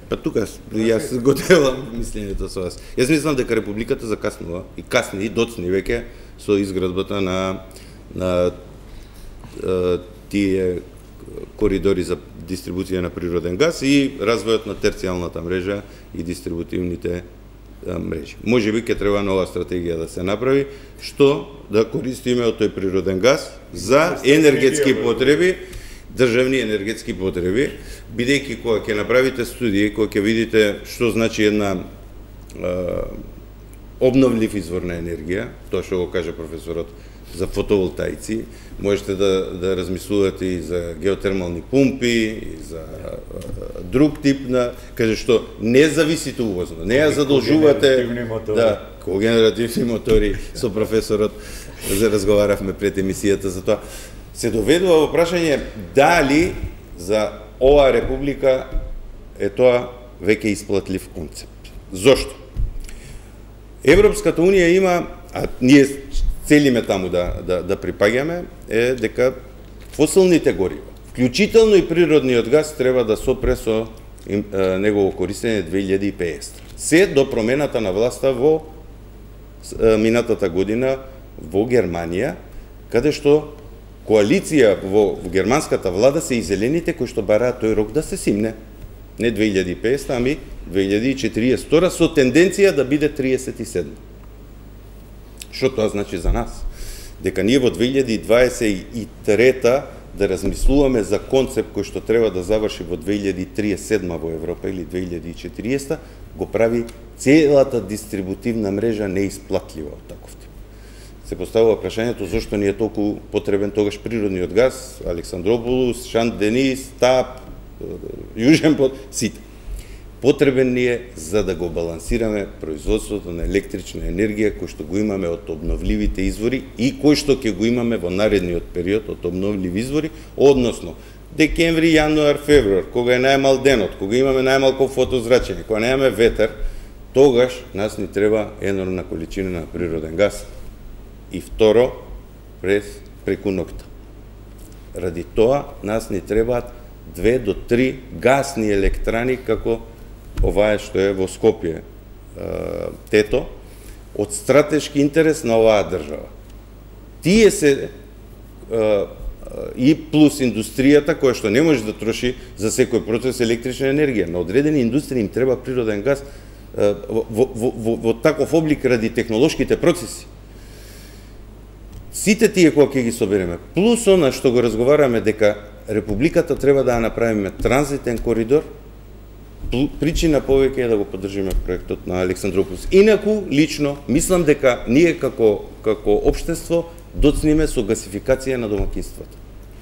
Па тука јас го делам мислењето со вас. Јас мислам дека Републиката закаснува и касни и доцни веќе со изградбата на тие коридори за дистрибуција на природен газ и развојот на терцијалната мрежа и дистрибутивните мрежи. Можеби ќе треба нова стратегија да се направи, што да користиме од тој природен газ за енергетски потреби, државни енергетски потреби, бидејќи кога ќе направите студија, кога ќе видите што значи една обновлив извор на енергија, тоа што го кажа професорот за фотоволтаици, можете да размислувате и за геотермални пумпи, и за друг тип на, каже што не зависите увозно, не ја задолжувате когенеративни мотори, со професорот разговаравме пред емисијата за тоа. Се доведува во прашање дали за оваа република е тоа веќе исплатлив концепт. Зошто? Европската унија има, а ние целиме таму да припаѓаме, е дека фосилните горива, вклучително и природниот газ, треба да сопре со негово користење 2050. Се до промената на власта во минатата година во Германија, каде што коалиција во германската влада се и зелените кои што бараат тој рок да се симне. Не 2050, ами 2042 со тенденција да биде 37. Што тоа значи за нас? Дека ние во 2023 да размислуваме за концепт кој што треба да заврши во 2037 во Европа или 2040, го прави целата дистрибутивна мрежа неисплатлива од таков тип. Се поставува прашањето зошто ни е толку потребен тогаш природниот газ, Александрополус, Шант Денис, ТАП, Јужен Пот, сите. Потребен ни е за да го балансираме производството на електрична енергија кој што го имаме од обновливите извори и кој што ќе го имаме во наредниот период од обновливи извори, односно декември, јануар, февруар, кога е најмал денот, кога имаме најмалку фотозрачење, кога немаме ветер, тогаш нас ни треба енормна количина на природен газ. И второ, преку ноќта. Ради тоа нас ни требаат 2 до 3 гасни електрани како оваа што е во Скопје, Тето, од стратешки интерес на оваа држава. Тие се и плюс индустријата која што не може да троши за секој процес електрична енергија. На одредени индустрии им треба природен газ во таков облик ради технолошките процеси. Сите тие кога ќе ги собереме, плюс она што го разговараме дека Републиката треба да ја направиме транзитен коридор, причина повеќе е да го поддржиме проектот на Александрополус. Инаку, лично, мислам дека ние како општество доцниме со гасификација на домакинствата.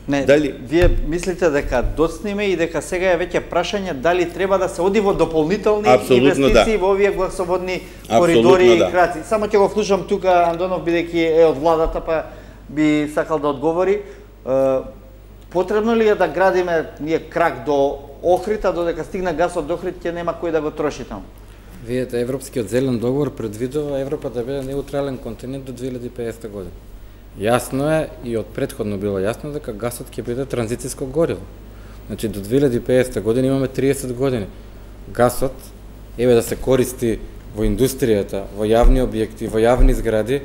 Не, вие мислите дека доцниме и дека сега е веќе прашање дали треба да се оди во дополнителни инвестиции во овие гласоводни коридори и краци. Само ќе го вклучам тука Андонов, бидејќи е од владата, па би сакал да одговори. Потребно ли е да градиме ние крак до Охрид, а додека стигне гасот до Охрид ќе нема кој да го троши таму? Видете, Европскиот зелен договор предвидува Европа да биде неутрален континент до 2050 година. Јасно е и од претходно било јасно дека гасот ќе биде транзициско гориво. Значи до 2050 година имаме 30 години. Гасот еве да се користи во индустријата, во јавни објекти, во јавни згради.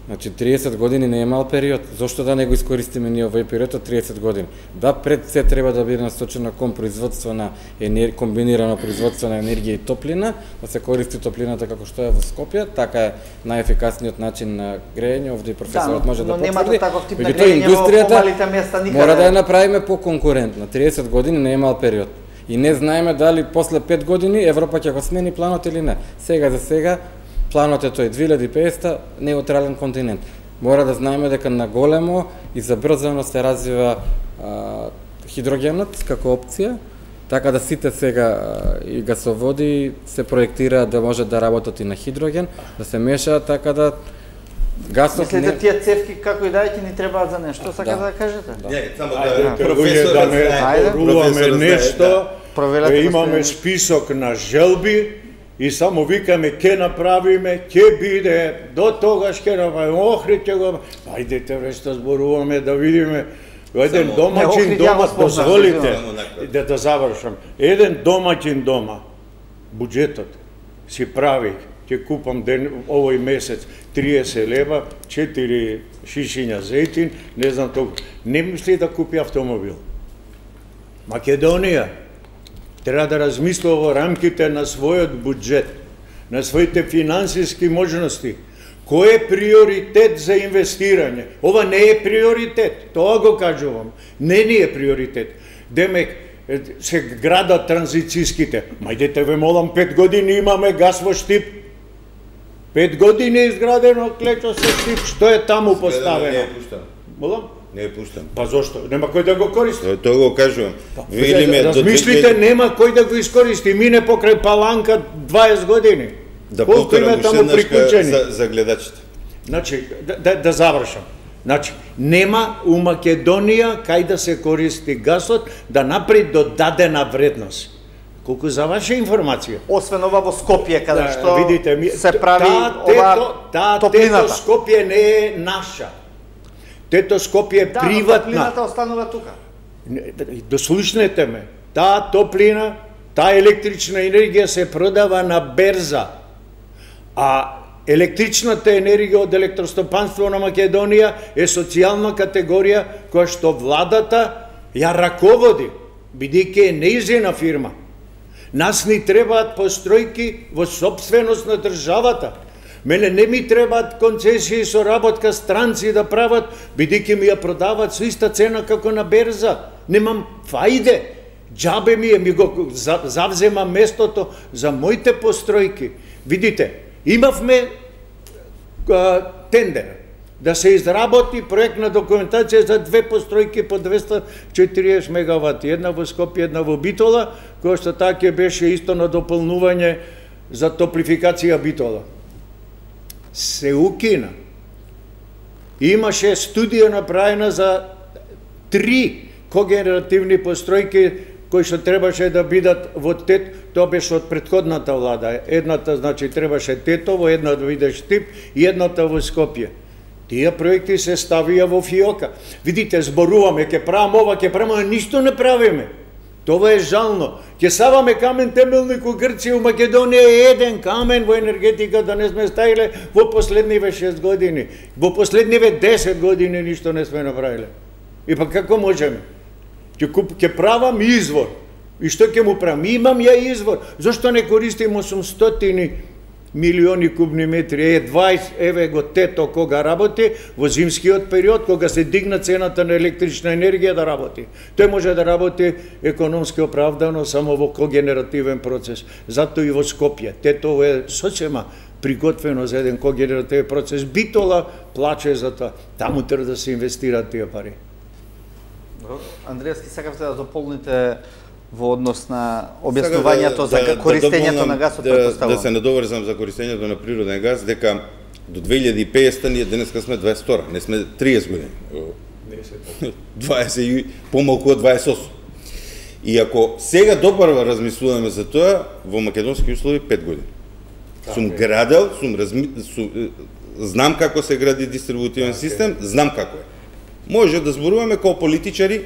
Значи 30 години не е мал период. Зошто да не го искористиме ние овој период од 30 години? Да, пред се треба да биде насочено кон производство на комбинирано производство на енергија и топлина, да се користи топлината како што е во Скопје, така е најефикасниот начин на грејење, овде и професорот може да потврди. Но нема таков тип на грејење во помалите места никаде. Мора да ја направиме поконкурентна. 30 години не е мал период. И не знаеме дали после 5 години Европа ќе го смени планот или не. Сега за сега планот е тој 2050 неутрален континент. Мора да знаеме дека на големо и забрзано се развива хидрогенот како опција, така да сите сега и гасоводи се проектираат да може да работат и на хидроген, да се мешаат така да гасот Мислите тие цевки како и да ќе ни требаат за нешто, сака да кажете? Не, само да не поруваме нешто, имаме список на желби, и само викаме, ке направиме, ке биде, до тогаш ке направиме, Охрид ќе го... Ајдете, вешто зборуваме, да видиме, еден домаќин дома, позволите, да завршам, еден домаќин дома, буџетот си прави, ќе купам овој месец 30 лева, 4 шишиња зејтин, не знам толку, не мисли да купи автомобил. Македонија треба да размислува во рамките на својот буџет, на своите финансиски можности, кој е приоритет за инвестирање. Ова не е приоритет, тоа го кажувам. Не ни е приоритет. Демек, се градат транзициските. Мајдете ве молам, 5 години имаме газ во Штип. 5 години е изградено клечо со Штип. Што е таму поставено? Не е пуштено. Молам? Не е пуштен. Па зошто? Нема кој да го користи. Тоа го кажувам. Размислите, нема кој да го искористи. Мине покрај Паланка 20 години. Да повторам уште еднаш за гледачите. Значи, да завршам. Значи, нема у Македонија кај да се користи гасот да направи додадена вредност. Колку за ваша информација. Освен ова во Скопје, каде што видите, се прави ова топлината. Тето Скопје не е наша. Тето Скопје е приватна. Топлината останува тука. Дослушнете ме. Таа топлина, таа електрична енергија се продава на берза. А електричната енергија од електростопанство на Македонија е социјална категорија која што владата ја раководи, бидејќи е нејзина фирма. Нас ни требаат постројки во сопственост на државата. Мене не ми требаат концесии со работка странци да прават, бидејќи ми ја продават со иста цена како на берза. Немам фајде. Џабе ми го завзема местото за моите постројки. Видите, имавме тендер да се изработи проектна документација за две постројки по 240 мегавати, една во Скопје, една во Битола, која што така беше исто на дополнување за топлификација Битола. Се укина. Имаше студија направена за 3 когенеративни постројки кои што требаше да бидат во ТЕТ, тоа беше од претходната влада. Едната, значи, требаше Тетово, една да биде Штип и едната во Скопје. Тие проекти се ставија во фиока. Видите, зборуваме, ќе правам ова, ќе правам, а ништо не правиме. Тоа е жално. Ќе саваме камен темелник у Грција, у Македонија е еден камен во енергетика да не сме ставиле во последниве 6 години. Во последниве 10 години ништо не сме направиле. И па како можеме? Ќе правам извор. И што ќе му правам? Имам ја извор. Зошто не користим 800 милиони кубни метри? 20, еве го Тето кога работи, во зимскиот период, кога се дигна цената на електрична енергија да работи. Тој може да работи економски оправдано само во когенеративен процес. Затоа и во Скопје. Тето е сосема приготвено за еден когенеративен процес. Битола плаче за тоа. Таму треба да се инвестираат тие пари. Андреевски, сакавте да дополните во однос на објаснувањето за користењето на гасот, да се надоврзам за користењето на природен газ, дека до 2050 ние денеска сме 22, не сме 30 години. 20 помалку од 28. И ако сега допрва размислуваме за тоа, во македонски услови 5 години. Сум градел, знам како се гради дистрибутивен систем, знам како е. Може да зборуваме како политичари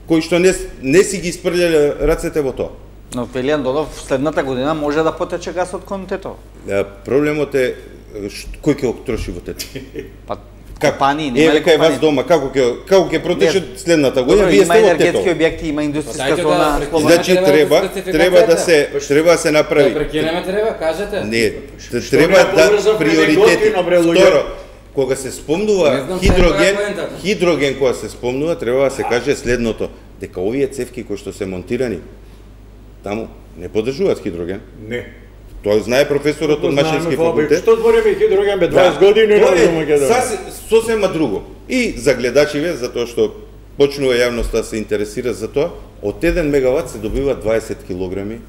кои што не си ги испрлеле рацете во тоа. Но вели Андонов, следната година може да потече гасот кон Тетово. Проблемот е кој ќе го троши во Тетово. Па компании, нема ли компании? Кај вас дома, како ќе протече следната година? Вие сте во Тетово. Има енергетски објекти, има индустријска зона. Значи треба да се направи. Прекинеме треба, кажете. Не, треба да приоритети. Второ, кога се спомнува хидроген кога се спомнува, треба да се каже следното, дека овие цевки кои што се монтирани таму не поддржуваат хидроген. Не. Тоа знае професорот од Машински факултет. Што збориме хидроген бе 20 години на Македонија. Сосема друго. И за гледачиве, затоа што почнува јавноста да се интересира за тоа, од 1 мегават се добива 20 килограми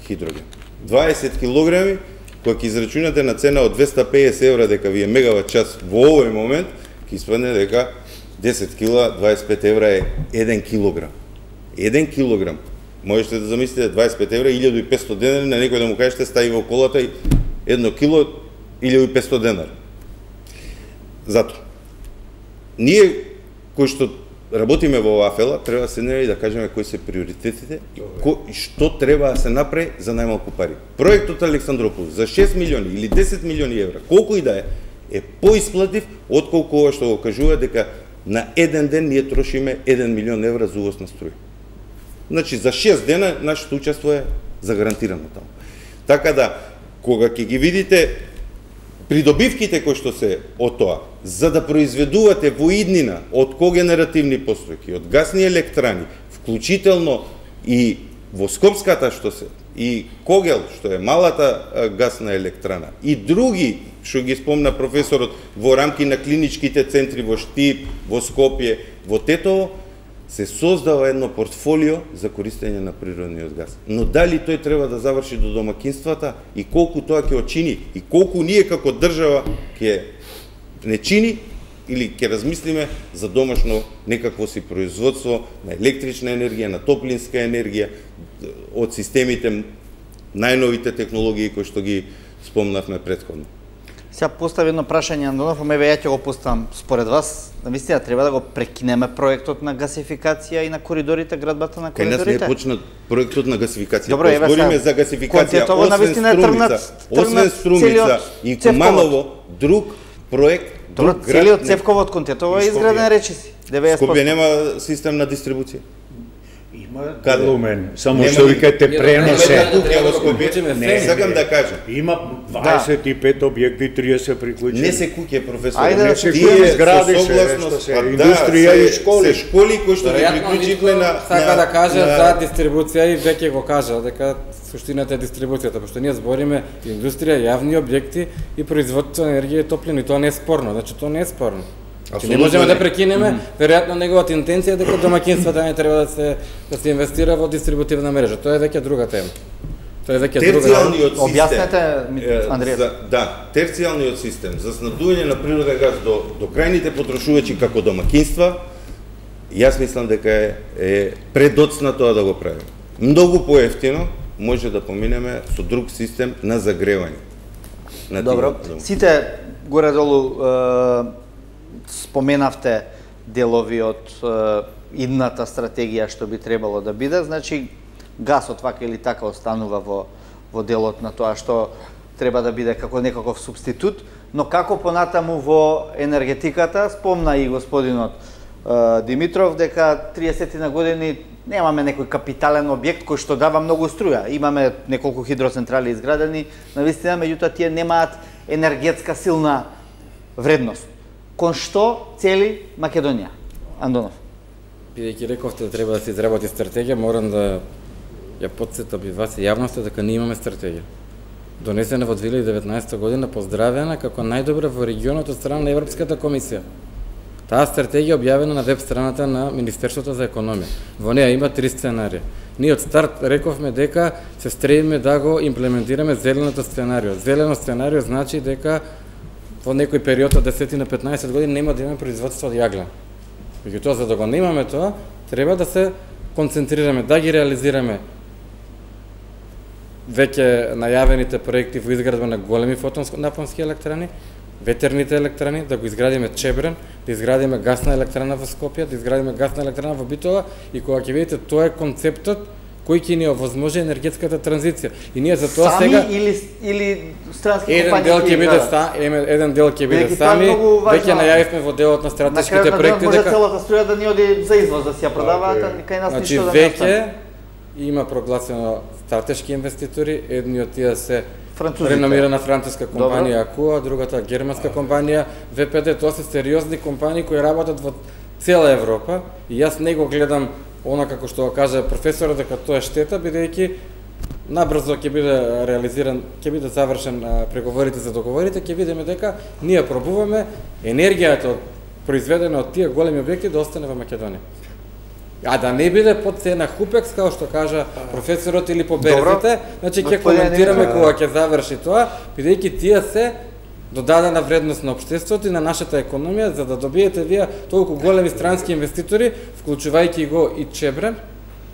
хидроген. 20 килограми кој ќе израчунате на цена од 250 евра дека ви е мегават час во овој момент, ќе испадне дека 10 кила, 25 евра е 1 килограм. 1 килограм. Можете да замислите 25 евра, 1500 денари, на некој да му кажете стави во колата 1 кило, 1500 денари. Зато, ние кои што работиме во оваа фела, треба да седнеме и да кажеме кои се приоритетите и што треба да се направи за најмалку пари. Проектот Александрополис за 6 милиони или 10 милиони евра, колку и да е поисплатив отколку ова што го кажува дека на еден ден ние трошиме 1 милион евра за увоз на струја. Значи за 6 дена нашето учество е загарантирано таму. Така да, кога ќе ги видите придобивките кои што се од тоа, за да произведувате во иднина од когенеративни постројки, од гасни електрани, вклучително и во Скопската што се, и Когел, што е малата гасна електрана, и други, што ги спомна професорот, во рамки на клиничките центри во Штип, во Скопје, во Тетово, се создава едно портфолио за користење на природниот газ. Но дали тој треба да заврши до домакинствата и колку тоа ќе очини и колку ние како држава ќе не чини или ќе размислиме за домашно некакво си производство на електрична енергија, на топлинска енергија, од системите, најновите технологии кои што ги спомнавме претходно. Сега постави едно прашање, Андонов, ја ќе го поставам. Според вас, навистина треба да го прекинеме проектот на гасификација и на коридорите, градбата на коридорите? Кај нас не е почнат проектот на гасификација. Добро, еве збориме за гасификација, освен Струмица и Куманово, друг проект, друг град. Целиот Цевковот кон Тетово е изграден, речи си. 90%. Скопје нема систем на дистрибуција. Лумен, само што викате преносе. Не сакам да кажам. Има 25 објекти, 30 приклучени. Не се куќе, професор. Ајде, тие згради се индустрија и школи. Се школи кои што ги приклучивме на сака да каже за дистрибуција и веќе го кажа дека суштината е дистрибуцијата, пошто ние збориме индустрија, јавни објекти и производство на енергија и топлина, и тоа не е спорно. Значи тоа не е спорно. Не можеме да прекинеме, веројатно неговата интенција е дека домаќинствата не треба да се инвестира во дистрибутивна мрежа. Тоа е веќе друга тема. Тоа е веќе друга тема. Објаснете, Андреев. Да, терцијалниот систем за снабдување на природен газ до крајните потрошувачи како домаќинства, јас мислам дека е предоцна тоа да го правиме. Многу поевтино може да поминеме со друг систем на загревање. Добро, сите горе-долу споменавте делови од идната стратегија што би требало да биде, значи гасот вака или така останува во делот на тоа што треба да биде како некаков субститут, но како понатаму во енергетиката, спомна и господинот Димитров дека 30 на години немаме некој капитален објект кој што дава многу струја. Имаме неколку хидроцентрали изградени, навистина, меѓутоа тие немаат енергетска силна вредност. Кон што цели Македонија? Андонов. Бидејќи рековте да треба да се изработи стратегија, морам да ја потсетам и вас и јавноста дека ние имаме стратегија. Донесена во 2019 година, поздравена како најдобра во регионот од страна на Европската комисија. Таа стратегија објавена на веб страната на Министерството за економија. Во неа има 3 сценарија. Ние од старт рековме дека се стремиме да го имплементираме зеленото сценарио. Зелено сценарио значи дека во некој период од 10 на 15 години нема да имаме производство од јаглен. Меѓутоа, за да го немаме тоа, треба да се концентрираме, да ги реализираме веќе најавените проекти во изградба на големи фотонапонски електрани, ветерните електрани, да го изградиме Чебрен, да изградиме гасна електрана во Скопје, да изградиме гасна електрана во Битола, и кога ќе видите, тоа е концептот кој ќе ни овозможи енергетската транзиција. И ние за тоа сега или странски компањи еден дел ќе биде сами. Веќе најавивме во делот на стратешките проекти дека може целата струја да ни оди за извоз, да си ја продаваат, а кај нас ништо да не остане. Веќе има прогласено стратешки инвеститори, едни од тие се реномирана француска компанија АКУ, другата германска компанија ВПД. Тоа се сериозни компании кои работат во цела Европа, и јас не го гледам она како што го кажа професорот дека тоа е штета, бидејќи набрзо ќе биде реализиран, ќе биде завршен преговорите за договорите, ќе видиме дека ние пробуваме енергијата произведена од тие големи објекти да остане во Македонија. А да не биде под цена Хупекс, како што кажа професорот, или по берзите, значи ќе коментираме кога ќе заврши тоа, бидејќи тие се додадена вредност на општеството и на нашата економија, за да добиете вие толку големи странски инвеститори, вклучувајќи го и Чебрен,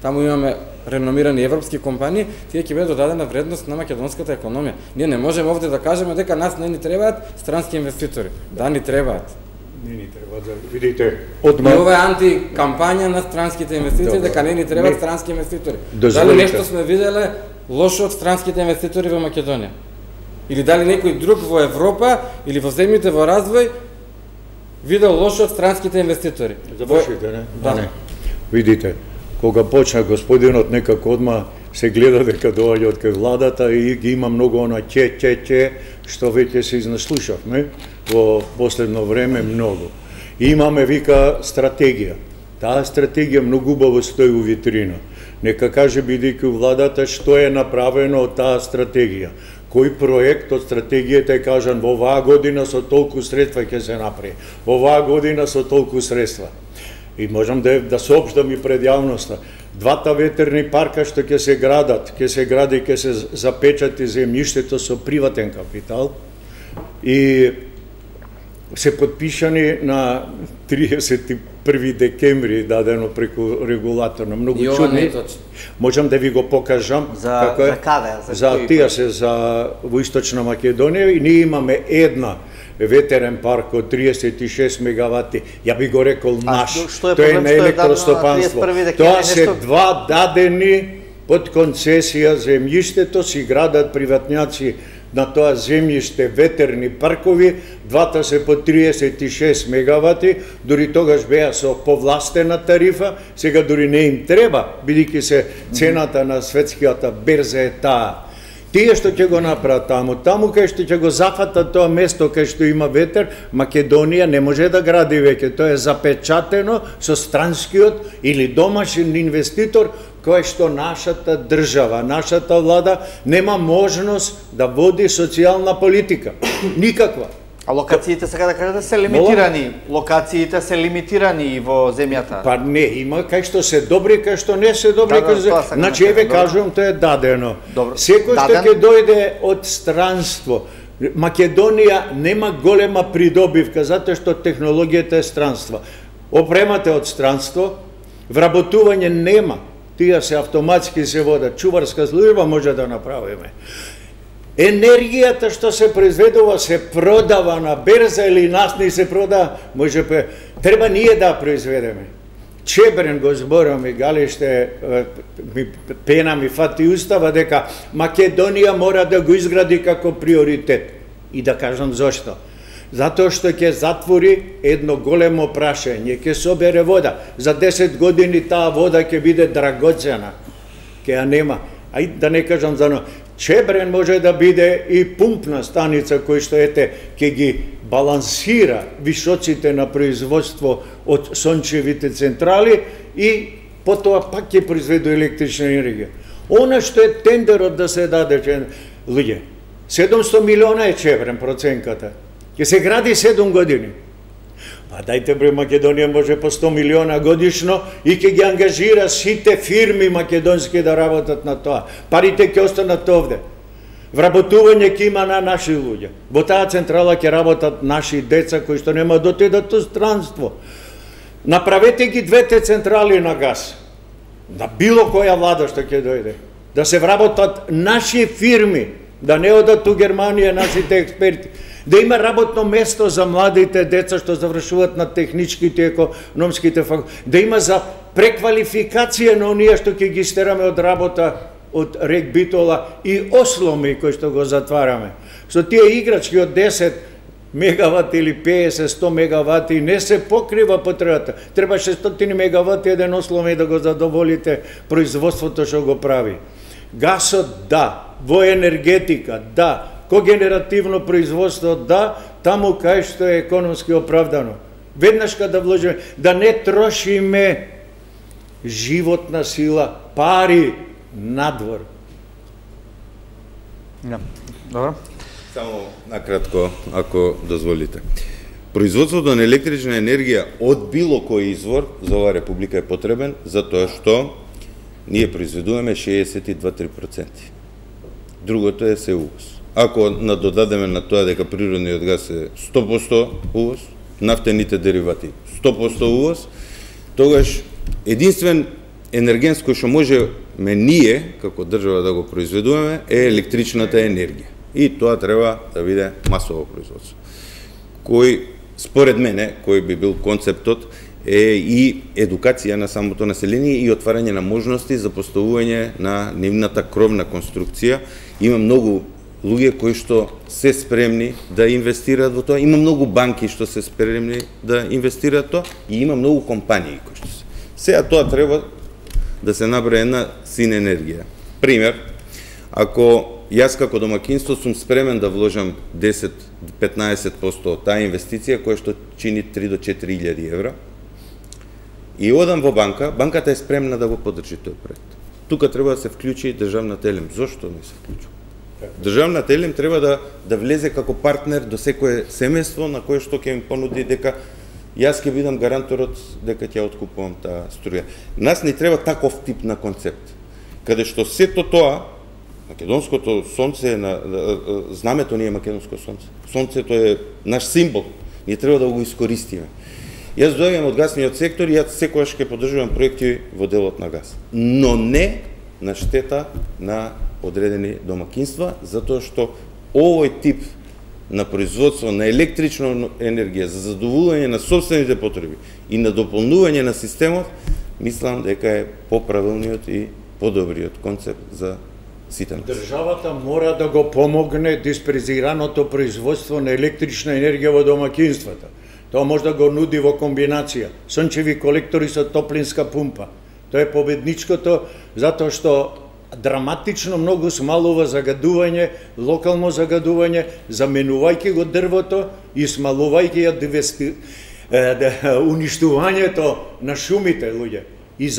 таму имаме реномирани европски компании, тие ќе биде додадена вредност на македонската економија. Ние не можеме овде да кажеме дека нас не ни требаат странски инвеститори. Да, ни требаат. Не ни треба да видите одма. И ова е антикампања на странските инвестиции, дека не ни требаат странски инвеститори. Дали нешто сме виделе лошо од странските инвеститори во Македонија? Или дали некој друг во Европа или во земјите во развој видел лошо од странските инвеститори? Завршите, не? Да. Не. Видите, кога почна господинот некако одма се гледа дека доаѓа од кај владата и ги има многу она че, што веќе се изнаслушавме во последно време многу. И имаме, вика, стратегија. Таа стратегија многу убаво стои у витрина. Нека каже, бидејќи владата, што е направено од таа стратегија. Кој проект од стратегијата е кажан во оваа година со толку средства ќе се направи. Во оваа година со толку средства. И можам да соопштам и пред јавноста. Двата ветерни парка што ќе се гради и ќе се запечати земјиштето со приватен капитал. И се подпишани на 31 декември дадено преку регулаторно. Многу чудни. Можам да ви го покажам. За каде? За тие се за во Источна Македонија и ние имаме една ветерен парк од 36 мегавати. Ја би го рекол наш. Тоа е на електростопанство. Тоа се два дадени под концесија земјиштето си градат приватњаци на тоа земјиште ветерни паркови, двата се по 36 мегавати, дури тогаш беа со повластена тарифа, сега дури не им треба, бидејќи се цената на светскијата берза е таа. Тие што ќе го направат таму кај што ќе го зафатат тоа место кај што има ветер, Македонија не може да гради веќе, тоа е запечатено со странскиот или домашен инвеститор, кој што нашата држава, нашата влада нема можност да води социјална политика. Никаква. А локациите сега да кажете се лимитирани. Локациите се лимитирани во земјата. Па не, има кај што се добри, кај што не се добри. Значи, еве кажувам, тоа е дадено. Секој што ќе дојде од странство, Македонија нема голема придобивка, затоа што технологијата е странство. Опремата од странство, вработување нема. Тие се автоматски се водат. Чуварска служба може да направиме. Енергијата што се произведува се продава на берза или нас не се продава, може треба ние да произведеме. Чебрен го зборам и Галиште пена ми фати устава дека Македонија мора да го изгради како приоритет. И да кажам зошто. Затоа што ќе затвори едно големо прашање, ќе собере вода. За 10 години таа вода ќе биде драгоцена. Ќе ја нема. Ај да не кажам за Чебрен може да биде и пумпна станица кој што ќе ги балансира висоците на производство од сончевите централи и потоа пак ќе произведе електрична енергија. Она што е тендерот да се даде, луѓе, 700 милиона е Чебрен проценката. Ќе се гради 7 години. Па дајте бре, Македонија може по 100 милиона годишно и ќе ги ангажира сите фирми македонски да работат на тоа. Парите ќе останат овде. Вработување ќе има на наши луѓе. Во таа централа ќе работат наши деца кои што нема да отидат во странство. Направете ги двете централи на газ. На било која влада што ќе дојде. Да се вработат наши фирми, да не одат у Германија нашите експерти. Да има работно место за младите деца што завршуваат на техничките и економските факултети. Да има за преквалификација на оние што ќе ги стераме од работа од Рек Битола и Осломи кои што го затвараме. Со тие играчки од 10 мегавати или 50-100 мегавати не се покрива потребата. Треба 600 мегавати еден Осломи да го задоволите производството што го прави. Гасот да, во енергетика да, когенеративно производство да, таму кај што е економски оправдано. Веднаш кога да вложиме, да не трошиме животна сила, пари надвор. Добро. Само накратко, ако дозволите. Производството на електрична енергија од било кој извор за оваа република е потребен, затоа што ние произведуваме 62-3%. Другото е се увоз. Ако надодадеме на тоа дека природниот газ е 100% увоз, нафтените деривати 100% увоз, тогаш единствен енерген кој што можеме ние, како држава, да го произведуваме, е електричната енергија. И тоа треба да биде масово производство. Кој, според мене, кој би бил концептот, е и едукација на самото население и отварање на можности за поставување на нивната кровна конструкција. Има многу луѓе кои што се спремни да инвестираат во тоа, има многу банки што се спремни да инвестираат тоа и има многу компании кои што се. Сега тоа треба да се направи една синергија. Пример, ако јас како домакинство сум спремен да вложам 10-15% од таа инвестиција која што чини 3 до 4 илјади евра и одам во банка, банката е спремна да го поддржи тој проект. Тука треба да се вклучи државната елем. Зошто не се вклучува? Државната елем треба да влезе како партнер до секое семејство на кое што ќе им понуди дека јас ќе бидам гаранторот дека ќе откупувам таа струја. Нас не треба таков тип на концепт, каде што сето тоа, македонското сонце е знамето ни е македонско сонце. Сонцето е наш символ. ние треба да го искористиме. Јас доаѓам од гасниот сектор и јас секогаш ќе поддржувам проекти во делот на газ, но не на штета на одредени домакинства, затоа што овој тип на производство на електрична енергија за задоволување на собствените потреби и на дополнување на системот, мислам дека е поправилниот и подобриот концепт за сите нас. Државата мора да го помогне диспрезираното производство на електрична енергија во домакинствата. Тоа може да го нуди во комбинација сончеви колектори со топлинска пумпа. Тоа е победничкото затоа што драматично многу смалува загадување, локално загадување, заменувајќи го дрвото и смалувајќи уништувањето на шумите, луѓе. И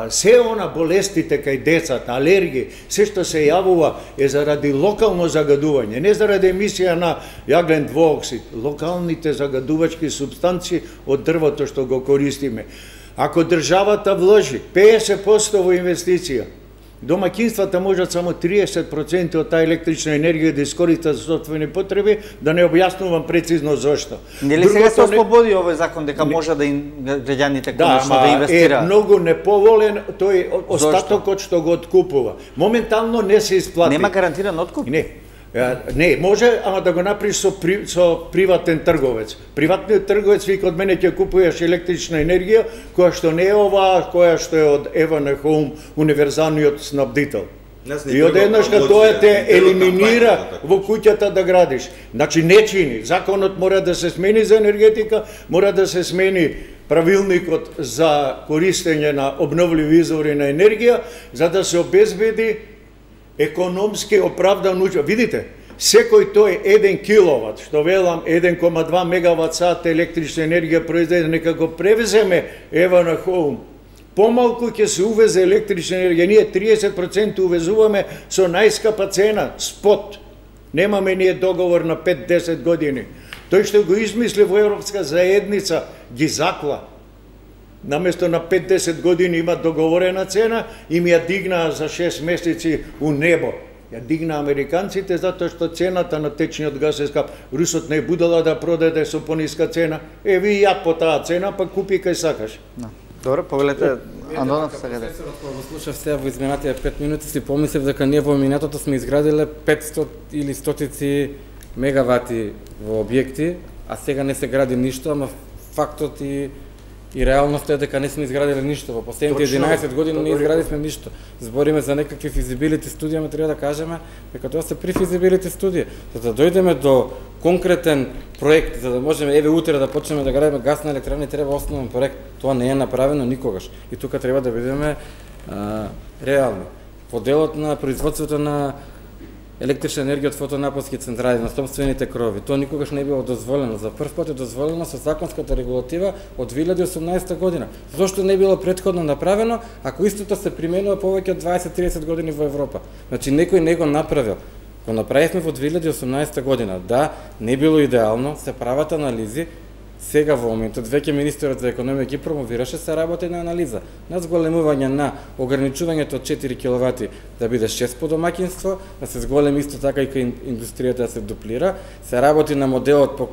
се она болестите кај децата, алергии, се што се јавува е заради локално загадување, не заради емисија на јаглен двуоксид, локалните загадувачки супстанции од дрвото што го користиме. Ако државата вложи 50% во инвестиција, домакинствата можат само 30% од таа електрична енергија да искористат за сопствени потреби, да не објаснувам прецизно зошто. Нели сега се ослободи овој закон дека може да граѓаните конечно да инвестираат? Да, е многу неповолен тој остатокот што го откупува. Моментално не се исплати. Нема гарантиран откуп? Не, може, ама да го направиш со приватен трговец. Приватниот трговец вика од мене ќе купуваш електрична енергија, која што не е оваа, која што е од Евана Хоум, универзалниот снабдител. И одеднаш кога тоа те елиминира во куќата да градиш. Значи не чини. Законот мора да се смени за енергетика, мора да се смени правилникот за користење на обновливи извори на енергија, за да се обезбеди економски оправдан учет. Видите, секој тој 1 киловат, што велам 1,2 мегават сат електрична енергија произведена, нека го превеземе Евана Хоум. Помалку ќе се увезе електрична енергија. Ние 30% увезуваме со најскапа цена, спот. Немаме ние договор на 5-10 години. Тој што го измисли во Европска заедница ги закла. Наместо на 5-10 години има договорена цена и ми ја дигнаа за 6 месеци у небо. Ја дигна американците затоа што цената на течниот газ е скап. Русот не будела да продаде со пониска цена. Ви ја по таа цена, па купи кај сакаш. Добре, погледнете, Андонов сега. Професорот кога го слушав сега во изминатите 5 минути си помислев дека ние во минатото сме изградиле 500 или стотици мегавати во објекти, а сега не се гради ништо, ама фактот и реалноста е дека не сме изградиле ништо. Во последните 11 години не изградивме ништо. Збориме за некакви физибилити студии, ама треба да кажеме дека тоа се префизибилити студии. За да дојдеме до конкретен проект, за да можеме еве утре да почнеме да градиме гасна електрана, треба основен проект. Тоа не е направено никогаш. И тука треба да бидеме реални. Во делот на производството на електрична енергија од фотонапонски централи на собствените крови. Тоа никогаш не е било дозволено. За прв пат е дозволено со законската регулатива од 2018 година. Зошто не е било претходно направено, ако истото се применува повеќе од 20-30 години во Европа? Значи некој не го направил. Го направивме во 2018 година. Да, не било идеално, се прават анализи. Сега во моментот веќе министерот за економија ги промовираше, се работи на анализа на зголемување на ограничувањето од 4 киловати да биде 6 по домакинство, да се зголеми исто така и кај индустријата да се дуплира, се работи на моделот по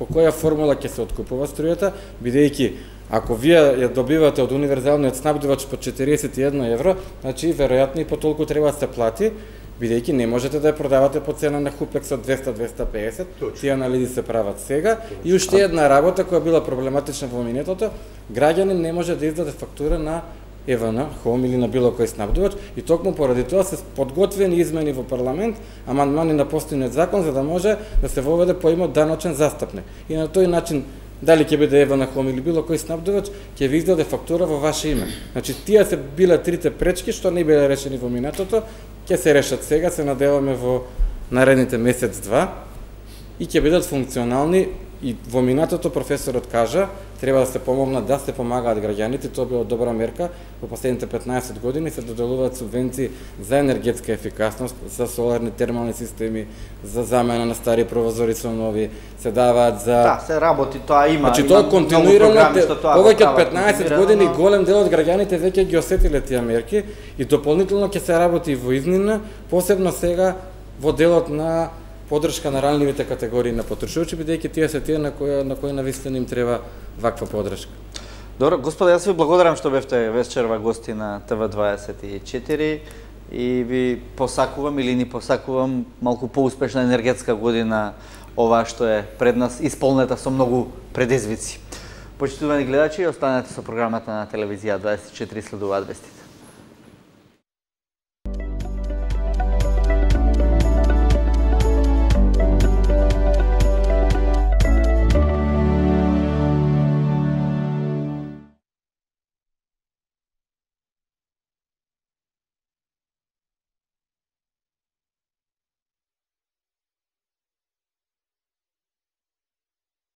која формула ќе се откупува струјата, бидејќи ако вие ја добивате од универзалниот снабдувач по 41 евро, значи веројатно и по толку треба да се плати, бидејќи не можете да ја продавате по цена на Хупекс од 200-250, тие анализи се прават сега. И уште една работа која била проблематична во минатото, граѓанин не може да издаде фактура на Евана Хоум или на било кој снабдувач, и токму поради тоа се подготвени измени во парламент, амандмани на постојниот закон за да може да се воведе поимот даночен застапник. И на тој начин дали ќе биде Евана Хоум или било кој снабдувач, ќе ви издаде фактура во ваше име. Значи тие се биле трите пречки што не биле решени во минатото, ќе се решат сега, се надеваме во наредните месец-два и ќе бидат функционални. И во минатото професорот кажа, треба да се помогнат, да се помагаат граѓаните, тоа била добра мерка. Во последните 15 години се доделуваат субвенции за енергетска ефикасност, за соларни термални системи, за замена на стари прозори со нови, се даваат за... Да, се работи, тоа има. Значи тоа континуирано, повеќе од 15 години голем дел од граѓаните веќе ги осетиле тие мерки и дополнително ќе се работи во изнина, посебно сега во делот на поддршка на ранливите категории на потрошувачи, бидејќи тие се тие на кои навистина им треба ваква поддршка. Добро, господа, јас ви благодарам што бевте вечерва гости на ТВ24 и ви посакувам или ни посакувам малку поуспешна енергетска година, ова што е пред нас, исполнета со многу предизвици. Почитувани гледачи, останете со програмата на телевизија 24, следуваат вестите.